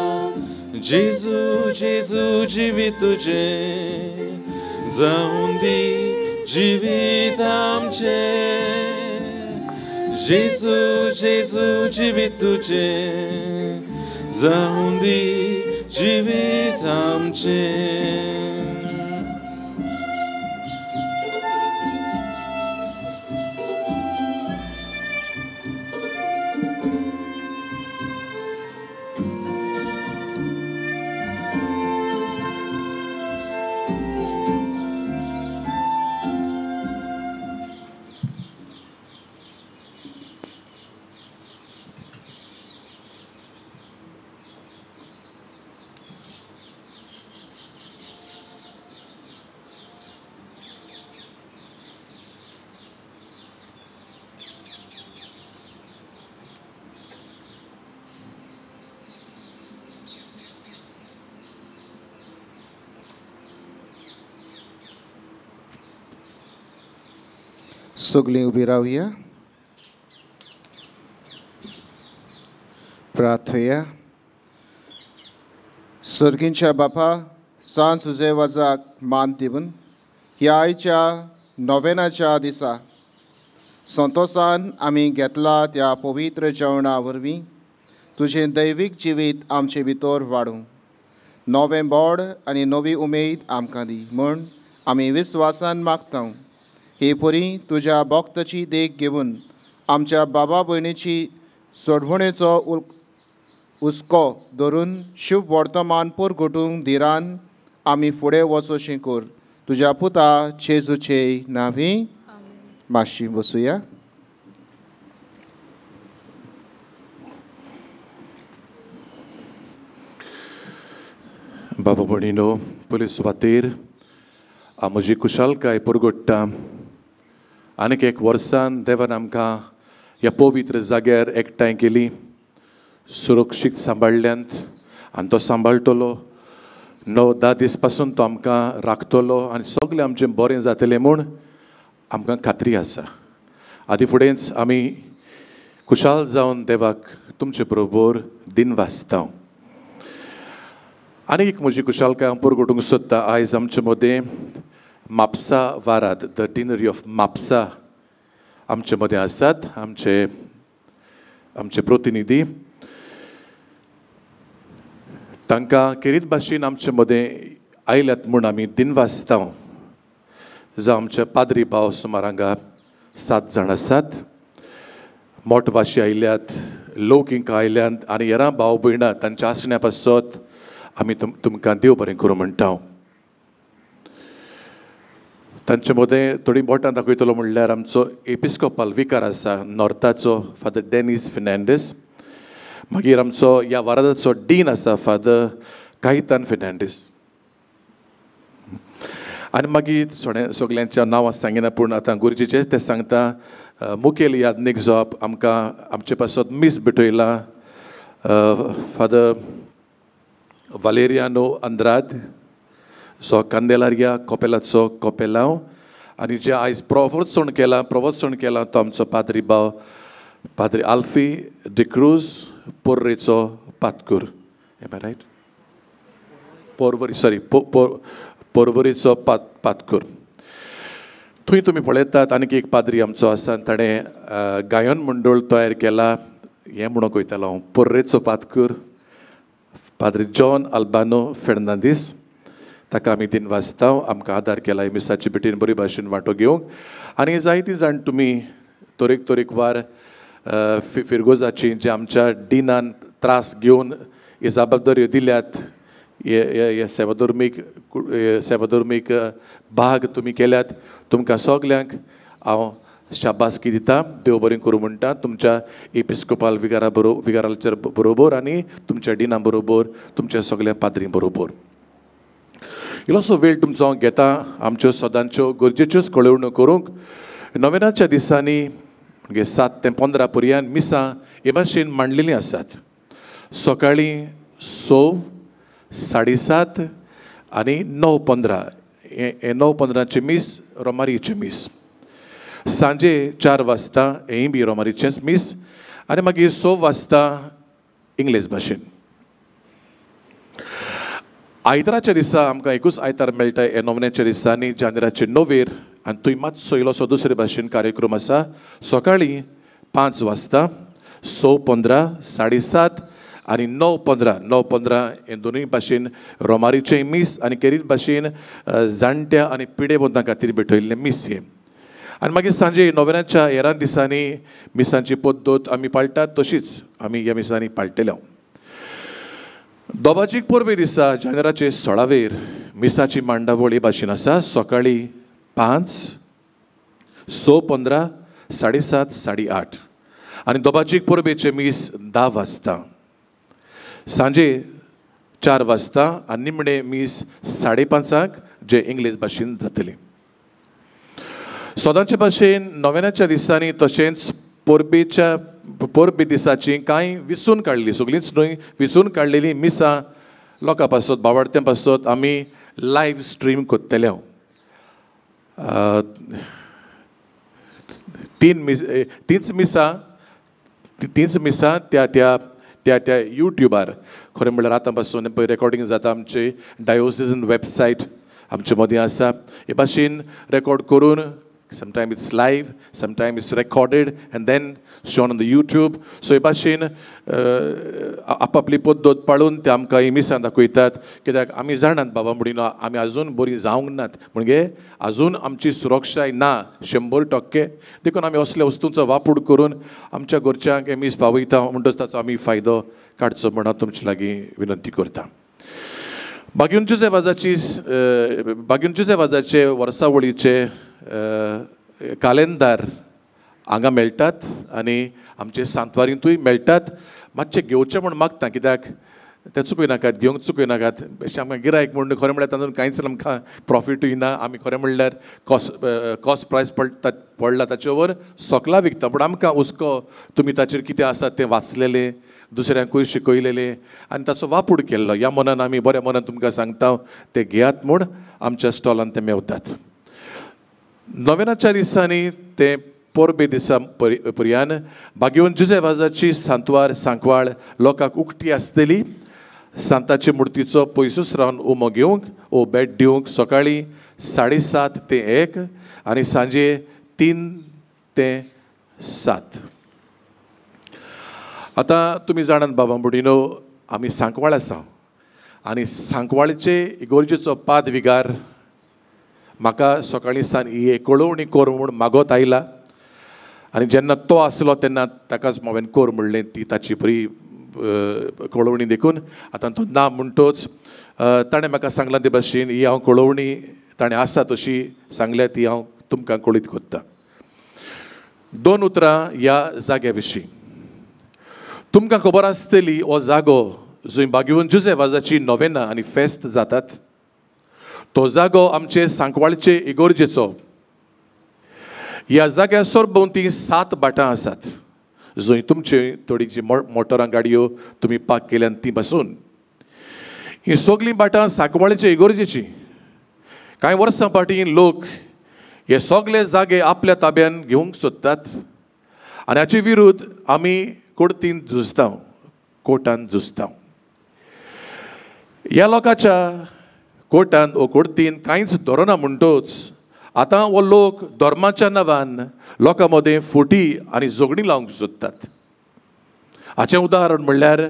Speaker 1: जेजू जेजू जिवीत तुजें जावं दी जिवीत आमचें. जेजू जेजू जिवीत तुजें जावं दी जिवीत आमचें.
Speaker 2: सगळीं उबी रावया, प्रार्थया. सर्गींच्या बापा, सांज सुजे वाजाक मान दिवन ह्या आयच्या नोवेनाच्या दिसा संतोसान आमी घेतला त्या पवित्र जेवणा वरवीं तुजें दैवीक जिवीत आमचे भितर वाडूं, नवें बोड आनी नवी उमेद आमकां दी म्हूण आमी विस्वासान मागता. हे परी तुज्या भक्ताची देख घेवन आमच्या बाबा भयणीची सोडवणेचो हुस्को धरून शुभ वर्तमान परगटूंक धिरान आमी फुडें वचोशें कर. तुज्या पुता जेजूचे नांवी. मातशी बसुया.
Speaker 12: बाबा भयणीनो, पयले सुवातेर म्हजी कुशालकाय परगट्टा. आनीक एक वर्सान देवान आमकां ह्या पवित्र जाग्यार एकठांय केली, सुरक्षीत सांबाळ्ळ्यांत आनी तो सांबाळटलो. 9-10 दीस पासून तो आमकां राखतलो आनी सगळें आमचें बरें जातलें म्हूण आमकां खात्री आसा. आदी फुडेंच आमी खुशाल जावन देवाक तुमचे बरोबर दिन वाचता. आनी एक म्हजी खुशालकाय हांव परगटूंक सोदतां. आयज आमचे मदें Mapusa वारात, the deanery of Mapusa आमचे मदें आसात आमचे आमचे प्रतिनिधी. तांकां खेरीत भाशेन आमचे मदें आयल्यात म्हूण आमी दिनवासता. जावं आमचे पाद्री भाव सुमार हांगा 7 जाण आसात, मोटवाशी आयल्यात, लोकिंक आयल्यात आनी हेरां भाव भयणां तांच्या आसण्या पासत आमी तुमकां देव बरें करूं म्हणटा. तांचे मदें थोडीं बोटां दाखयतलो म्हणल्यार आमचो एपिस्कोपाल विकार आसा नॉर्थाचो फादर डेनीस फेर्नांडीस, मागीर आमचो ह्या वारादाचो डीन आसा फादर कायतान फेर्नांडीस, आनी मागीर सगळ्यांच्या नांवां सांगिना पूण आतां गरजेचें तें सांगता. मुखेल याज्ञीक जो आमकां आमचे पासत मीस भेटयलां फादर वालेरियानो आंद्राद, सो कांदेलारिया कोपेलाचो कोपेलांव, आनी जे आयज प्रवचण केलां तो आमचो पाद्री भाव पाद्री आल्फी डिक्रूज पोर्रेचो पातकूर. Am I right? Porvorim, sorry, पोरवरीचो पातकूर. थंय तुमी पळयतात आनीक एक पाद्री आमचो आसा, ताणें गायन मंडळ तयार केला. हें म्हणूंक वयतालो हांव, पोर्रेचो पातकूर पाद्री जॉन अल्बानो फेर्नांदीस, ताका आमी दिन वाचता. आमकां आदार केला मिसाची भेटीन बरी भाशेन वांटो घेवंक. आनी जायतीं जाण तुमी तरेक तरेकवार फिरगोजाची जे आमच्या डिनान त्रास घेवन ही जबाबदाऱ्यो दिल्यात, हे सेवाधर्मीक भाग तुमी केल्यात, तुमकां सगल्यांक हांव शाबासकी दिता. देव बरें करूं म्हणटा तुमच्या एपिस्कोपाल विगारा विगाराच्या बरोबर आनी तुमच्या डिना बरोबर, तुमच्या सगल्या पाद्री बरोबर. इल्लोसो वेळ तुमचो हांव घेता आमच्यो सदांच्यो गरजेच्योच कळोवण्यो करूंक. नोवेनाच्या दिसांनी म्हणजे 7 ते 15 पर्यंत मिसां हे भाशेन मांडलेलीं आसात. सकाळीं 6, 7:30 आनी 9:15. हे 9:15 मीस रोमारीचें मीस. सांजे 4 वाजता हेंय बी रोमारीचेंच मीस आनी मागीर 6 वाजता इंग्लीश भाशेन. आयताराच्या दिसा आमकां एकूच आयतार मेळटा हे नोवण्याच्या दिसांनी जानेराचे 9 आनी थंय मातसो इल्लोसो दुसरे भाशेन कार्यक्रम आसा. सकाळीं 5 वाजता, 6:15, 7:30 आनी 9:15. 9:15 हे दोनूय भाशेन रोमारीचें मीस आनी खेरीत भाशेन जाणट्या आनी पिडेवंतां खातीर भेटयल्लें मीस हें. आनी मागीर सांजे नोव्याच्या हेरां दिसांनी मिसांची पद्दत आमी पाळटात तशीच आमी ह्या मिसांनी पाळटले. दोबाजीक परबे दिसा जानेराचे 16 मिसाची मांडावळ हे भाशेन आसा. सकाळीं 5, 6:15, 7:30, 8:30 आनी दोबाजीक परबेचें मीस 10 वाजता, सांजे 4 वाजता आनी निमणें मीस 5:30 जें इंग्लीश भाशेन जातलें. सदांचे भाशेन नोव्याच्या दिसांनी तशेंच परबेच्या परबे दिसाची कांय विचून काडली, सगळींच न्हय, विचून काडलेलीं मिसां लोकां पासत, बावडत्यां पासत आमी लायव्ह स्ट्रीम करतले. तींच मिसां त्या त्या त्या त्या यूट्यूबार, खरें म्हणल्यार आतां पासून पळय रेकॉर्डिंग जाता. आमचे डायोसिजन वेबसायट आमचे मदीं आसा. हे भाशेन रेकॉर्ड करून sometime it's live, sometime it's recorded and then shown on the YouTube. So हे भाशेन आपापली पद्दत पाळून ते आमकां ही मिसां दाखयतात. कित्याक आमी जाणात बाबा म्हणिना आमी आजून बरीं जावंक नात, म्हणजे आजून आमची सुरक्षाय ना 100%. देखून आमी असल्या वस्तूंचो वापर करून आमच्या घरच्यांक हे मीस पावयता म्हणटच ताचो आमी फायदो काडचो म्हण हांव तुमचे लागीं विनंती करता. बाग्युंचे वाजाचे वर्सावळीचे कालेंदार हांगा मेळटात आनी आमचे सांतवारींतूय मेळटात. मातशें घेवचें म्हूण मागता, कित्याक तें चुकय नाकात, घेवंक चुकय नाकात. अशें आमकां गिरायक म्हूण खरें म्हणल्यार तातूंत कांयच आमकां प्रॉफिटूय ना. आमी खरें म्हणल्यार कॉस्ट प्रायस पडला ताचे वर सोकला विकता, पूण आमकां हुस्को तुमी ताचेर कितें आसा तें वाचलेलें, दुसऱ्यांकूय शिकयलेलें आनी ताचो वापूर केल्लो. ह्या मनान आमी बऱ्या मनान तुमकां सांगता तें घेयात म्हूण आमच्या स्टॉलान तें मेवतात. नोव्याच्या दिसांनी ते परबे दिसा पर्यान बागेवन जुजे वाजाची सांतवार सांकवाळ लोकांक उक्ती आसतली. सांताचे मुर्तीचो पयसूच रावन उमो घेवंक ओ भेट दिवंक सकाळीं 7:30 ते 1 आनी सांजे 3 ते 7. आतां तुमी जाणात बाबा भयणीनो, आमी सांकवाळ आसा आनी सांकवाळचे इगोर्जेचो पाद विगार म्हाका सकाळीं सान ही कळोवणी कर म्हूण मागत आयला आनी जेन्ना तो आसलो तेन्ना ताकाच हांवें कर म्हणलें, ती ताची बरी कळोवणी. देखून आतां तो ना म्हणटोच ताणें म्हाका सांगलां ते भाशेन ही हांव कळोवणी ताणें आसा तशी सांगल्या ती हांव तुमकां कळीत करतां. 2 उतरां ह्या जाग्या विशीं. तुमकां खबर आसतली हो जागो जंय बागेवन जुजे वाजाची नोवेना आनी फेस्त जातात तो जागो आमचे सांकवाळचे इगोर्जेचो. ह्या जाग्यार सरभोंवती 7 भाटां आसात जंय तुमचे थोडी जी मोटरां गाडयो तुमी पार्क केल्यान ती बसून. ही सगळीं भाटां सांकवाळचे इगोर्जेची. कांय वर्सां फाटीं लोक हे सगळे जागे आपल्या ताब्यान घेवंक सोदतात आनी हाचे विरुद्ध आमी कोर्तीन झुजता, कोर्टान झुजता. ह्या लोकांच्या कोर्टान ओ कोर्तीन कांयच धरना म्हणटोच आतां हो लोक धर्माच्या नांवान लोकां मदें फुटी आनी झगडीं लावंक सोदतात. हाचें उदाहरण म्हणल्यार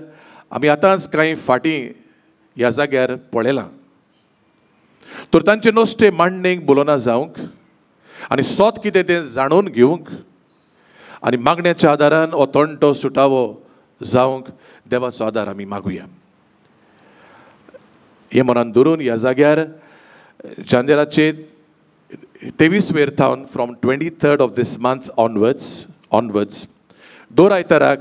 Speaker 12: आमी आतांच कांय फाटीं ह्या जाग्यार पळयलां. तर तांचे नश्टे मांडणेक बोलोना जावंक आनी सोत कितें तें जाणून घेवंक आनी मागण्याच्या आदारान हो तंटो सुटावो जावंक देवाचो आदार आमी मागुया. हें मनान धरून ह्या जाग्यार जानेराचे 23 वेर थावन from 23rd of this month onwards दर आयताराक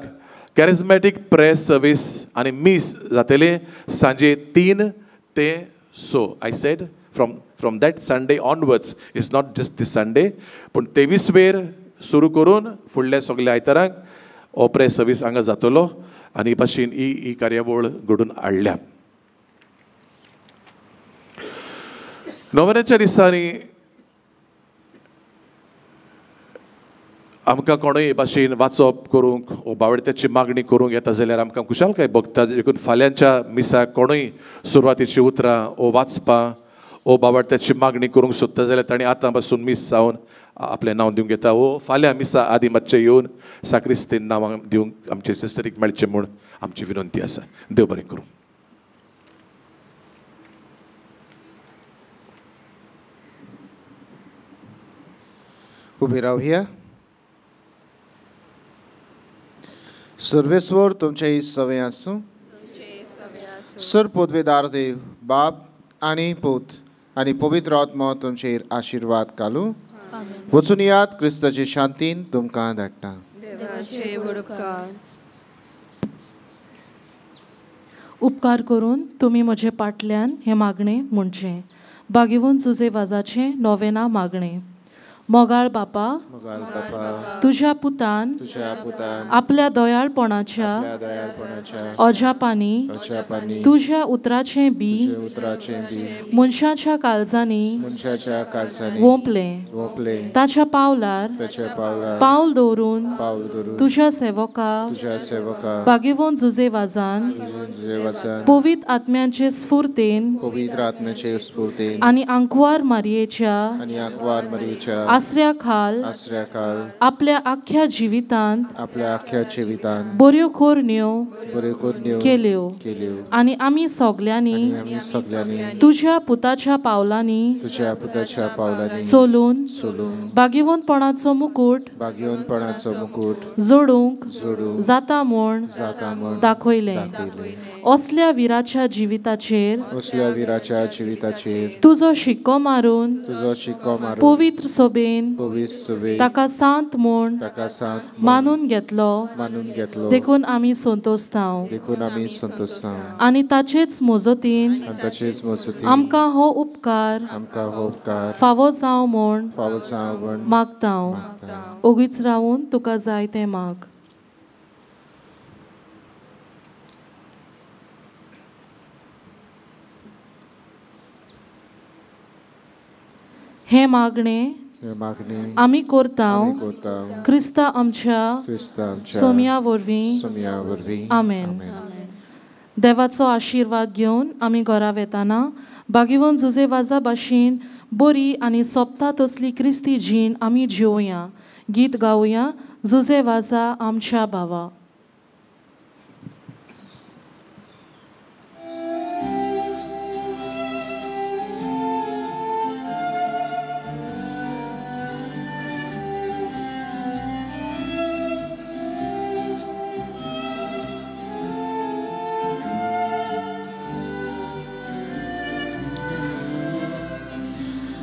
Speaker 12: कॅरिज्मॅटीक प्रेयर सर्वीस आनी मीस जातलें सांजे 3 ते 6. I said from that Sunday onwards, it's not just this Sunday, पूण 23 वेर सुरू करून फुडल्या सगल्या आयताराक हो प्रेयर सर्वीस हांगा जातलो आनी भाशेन ही कार्यावळ घडून हाडल्या. नोव्हेंबराच्या दिसांनी आमकां कोणूय भाशेन वाचप करूंक वो बावडत्याची मागणी करूंक येता जाल्यार आमकां खुशालकाय भोगता. देखून फाल्यांच्या मिसाक कोणूय सुरवातेची उतरां वो वाचपां वो बावडत्याची मागणी करूंक सोदता जाल्यार ताणें आतां पासून मीस जावन आपलें नांव दिवंक येता वो फाल्यां मिसा आदी मातशें येवन साक्रिस्तीन नांवां दिवंक आमचे सिस्टरीक मेळचें म्हूण आमची विनंती आसा. देव बरें करूं.
Speaker 2: उबी रावया. सर्वेस्वर तुमचे सवे आसूं. सर पदवेदार देव बाप आनी पूत आनी पवित्र आत्मो तुमचेर आशिर्वाद घालूं. वचून यात क्रिस्ताचे शांतीन तुमकां धाडटा.
Speaker 7: उपकार करून तुमी म्हजे पाटल्यान हें मागणें म्हणचें. बागेवन जुजे वाजाचें नोवेना मागणें. मोगाळ बापा, तुज्या पुतान आपल्या दयाळपणाच्या अजापांनी तुज्या उतराचें बी मनशाच्या काळजांनी वोंपलें. ताच्या पावलार पावल दवरून तुज्या सेवका बागेवन जुजे वाजान पवित्र आत्म्याचे स्फूर्तेन आनी आंकवार मारयेच्या आसऱ्या खाल आपल्या आख्या जिवितांत बऱ्यो कोरण्यो केल्यो आनी आमी सगल्यांनी तुज्या पुताच्या पावलांनी चलून बागेवनपणाचो मुकूट जोडूंक जाता म्हूण दाखयलें. असल्या विराच्या जिविताचेर तुजो शिक्को मारून पवित्र सोबेन ताका सांत म्हूण मानून घेतलो. देखून आमी संतोषताव आनी ताचेच मजतीन आमकां हो उपकार फावो जावं म्हूण मागता. ओगीच रावून तुका जाय तें माग. हें मागणें आमी करता क्रिस्ता आमच्या सोम्या वरवीं. आमेन. देवाचो आशिर्वाद घेवन आमी घरा वेताना बागेवन जुजे वाजा भाशेन बरी आनी सोंपता तसली क्रिस्ती जीण आमी जिवया. गीत गावया जुजे वाजा आमच्या भावा.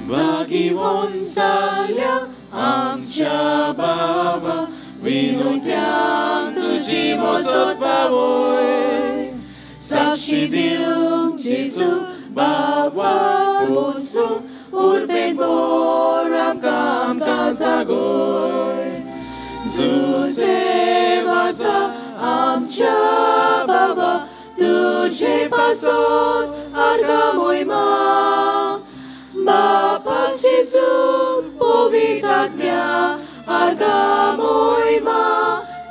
Speaker 1: बागेवन जाल्या आमच्या बाबा विनोद्यान तुजी मजत पावय. साक्षी दिवंक जेजू बाबा पोसू उर्बेन बोर आमकां आमकां जागोय. जुजे वाजा आमच्या बाबा तुजे पासत आर्गां मोहिमा. बापा जेजू पवित्र आत्म्या आर्गां मोहिमा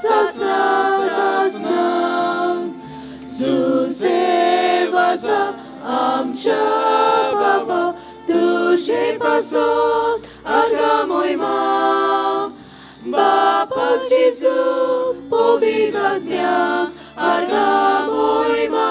Speaker 1: सासना सासना. जुजे वाजा आमच्या बाबा तुजे पासत आर्गां मोहिमा. बापा जेजू पवित्र आत्म्या आर्गां मोहिमा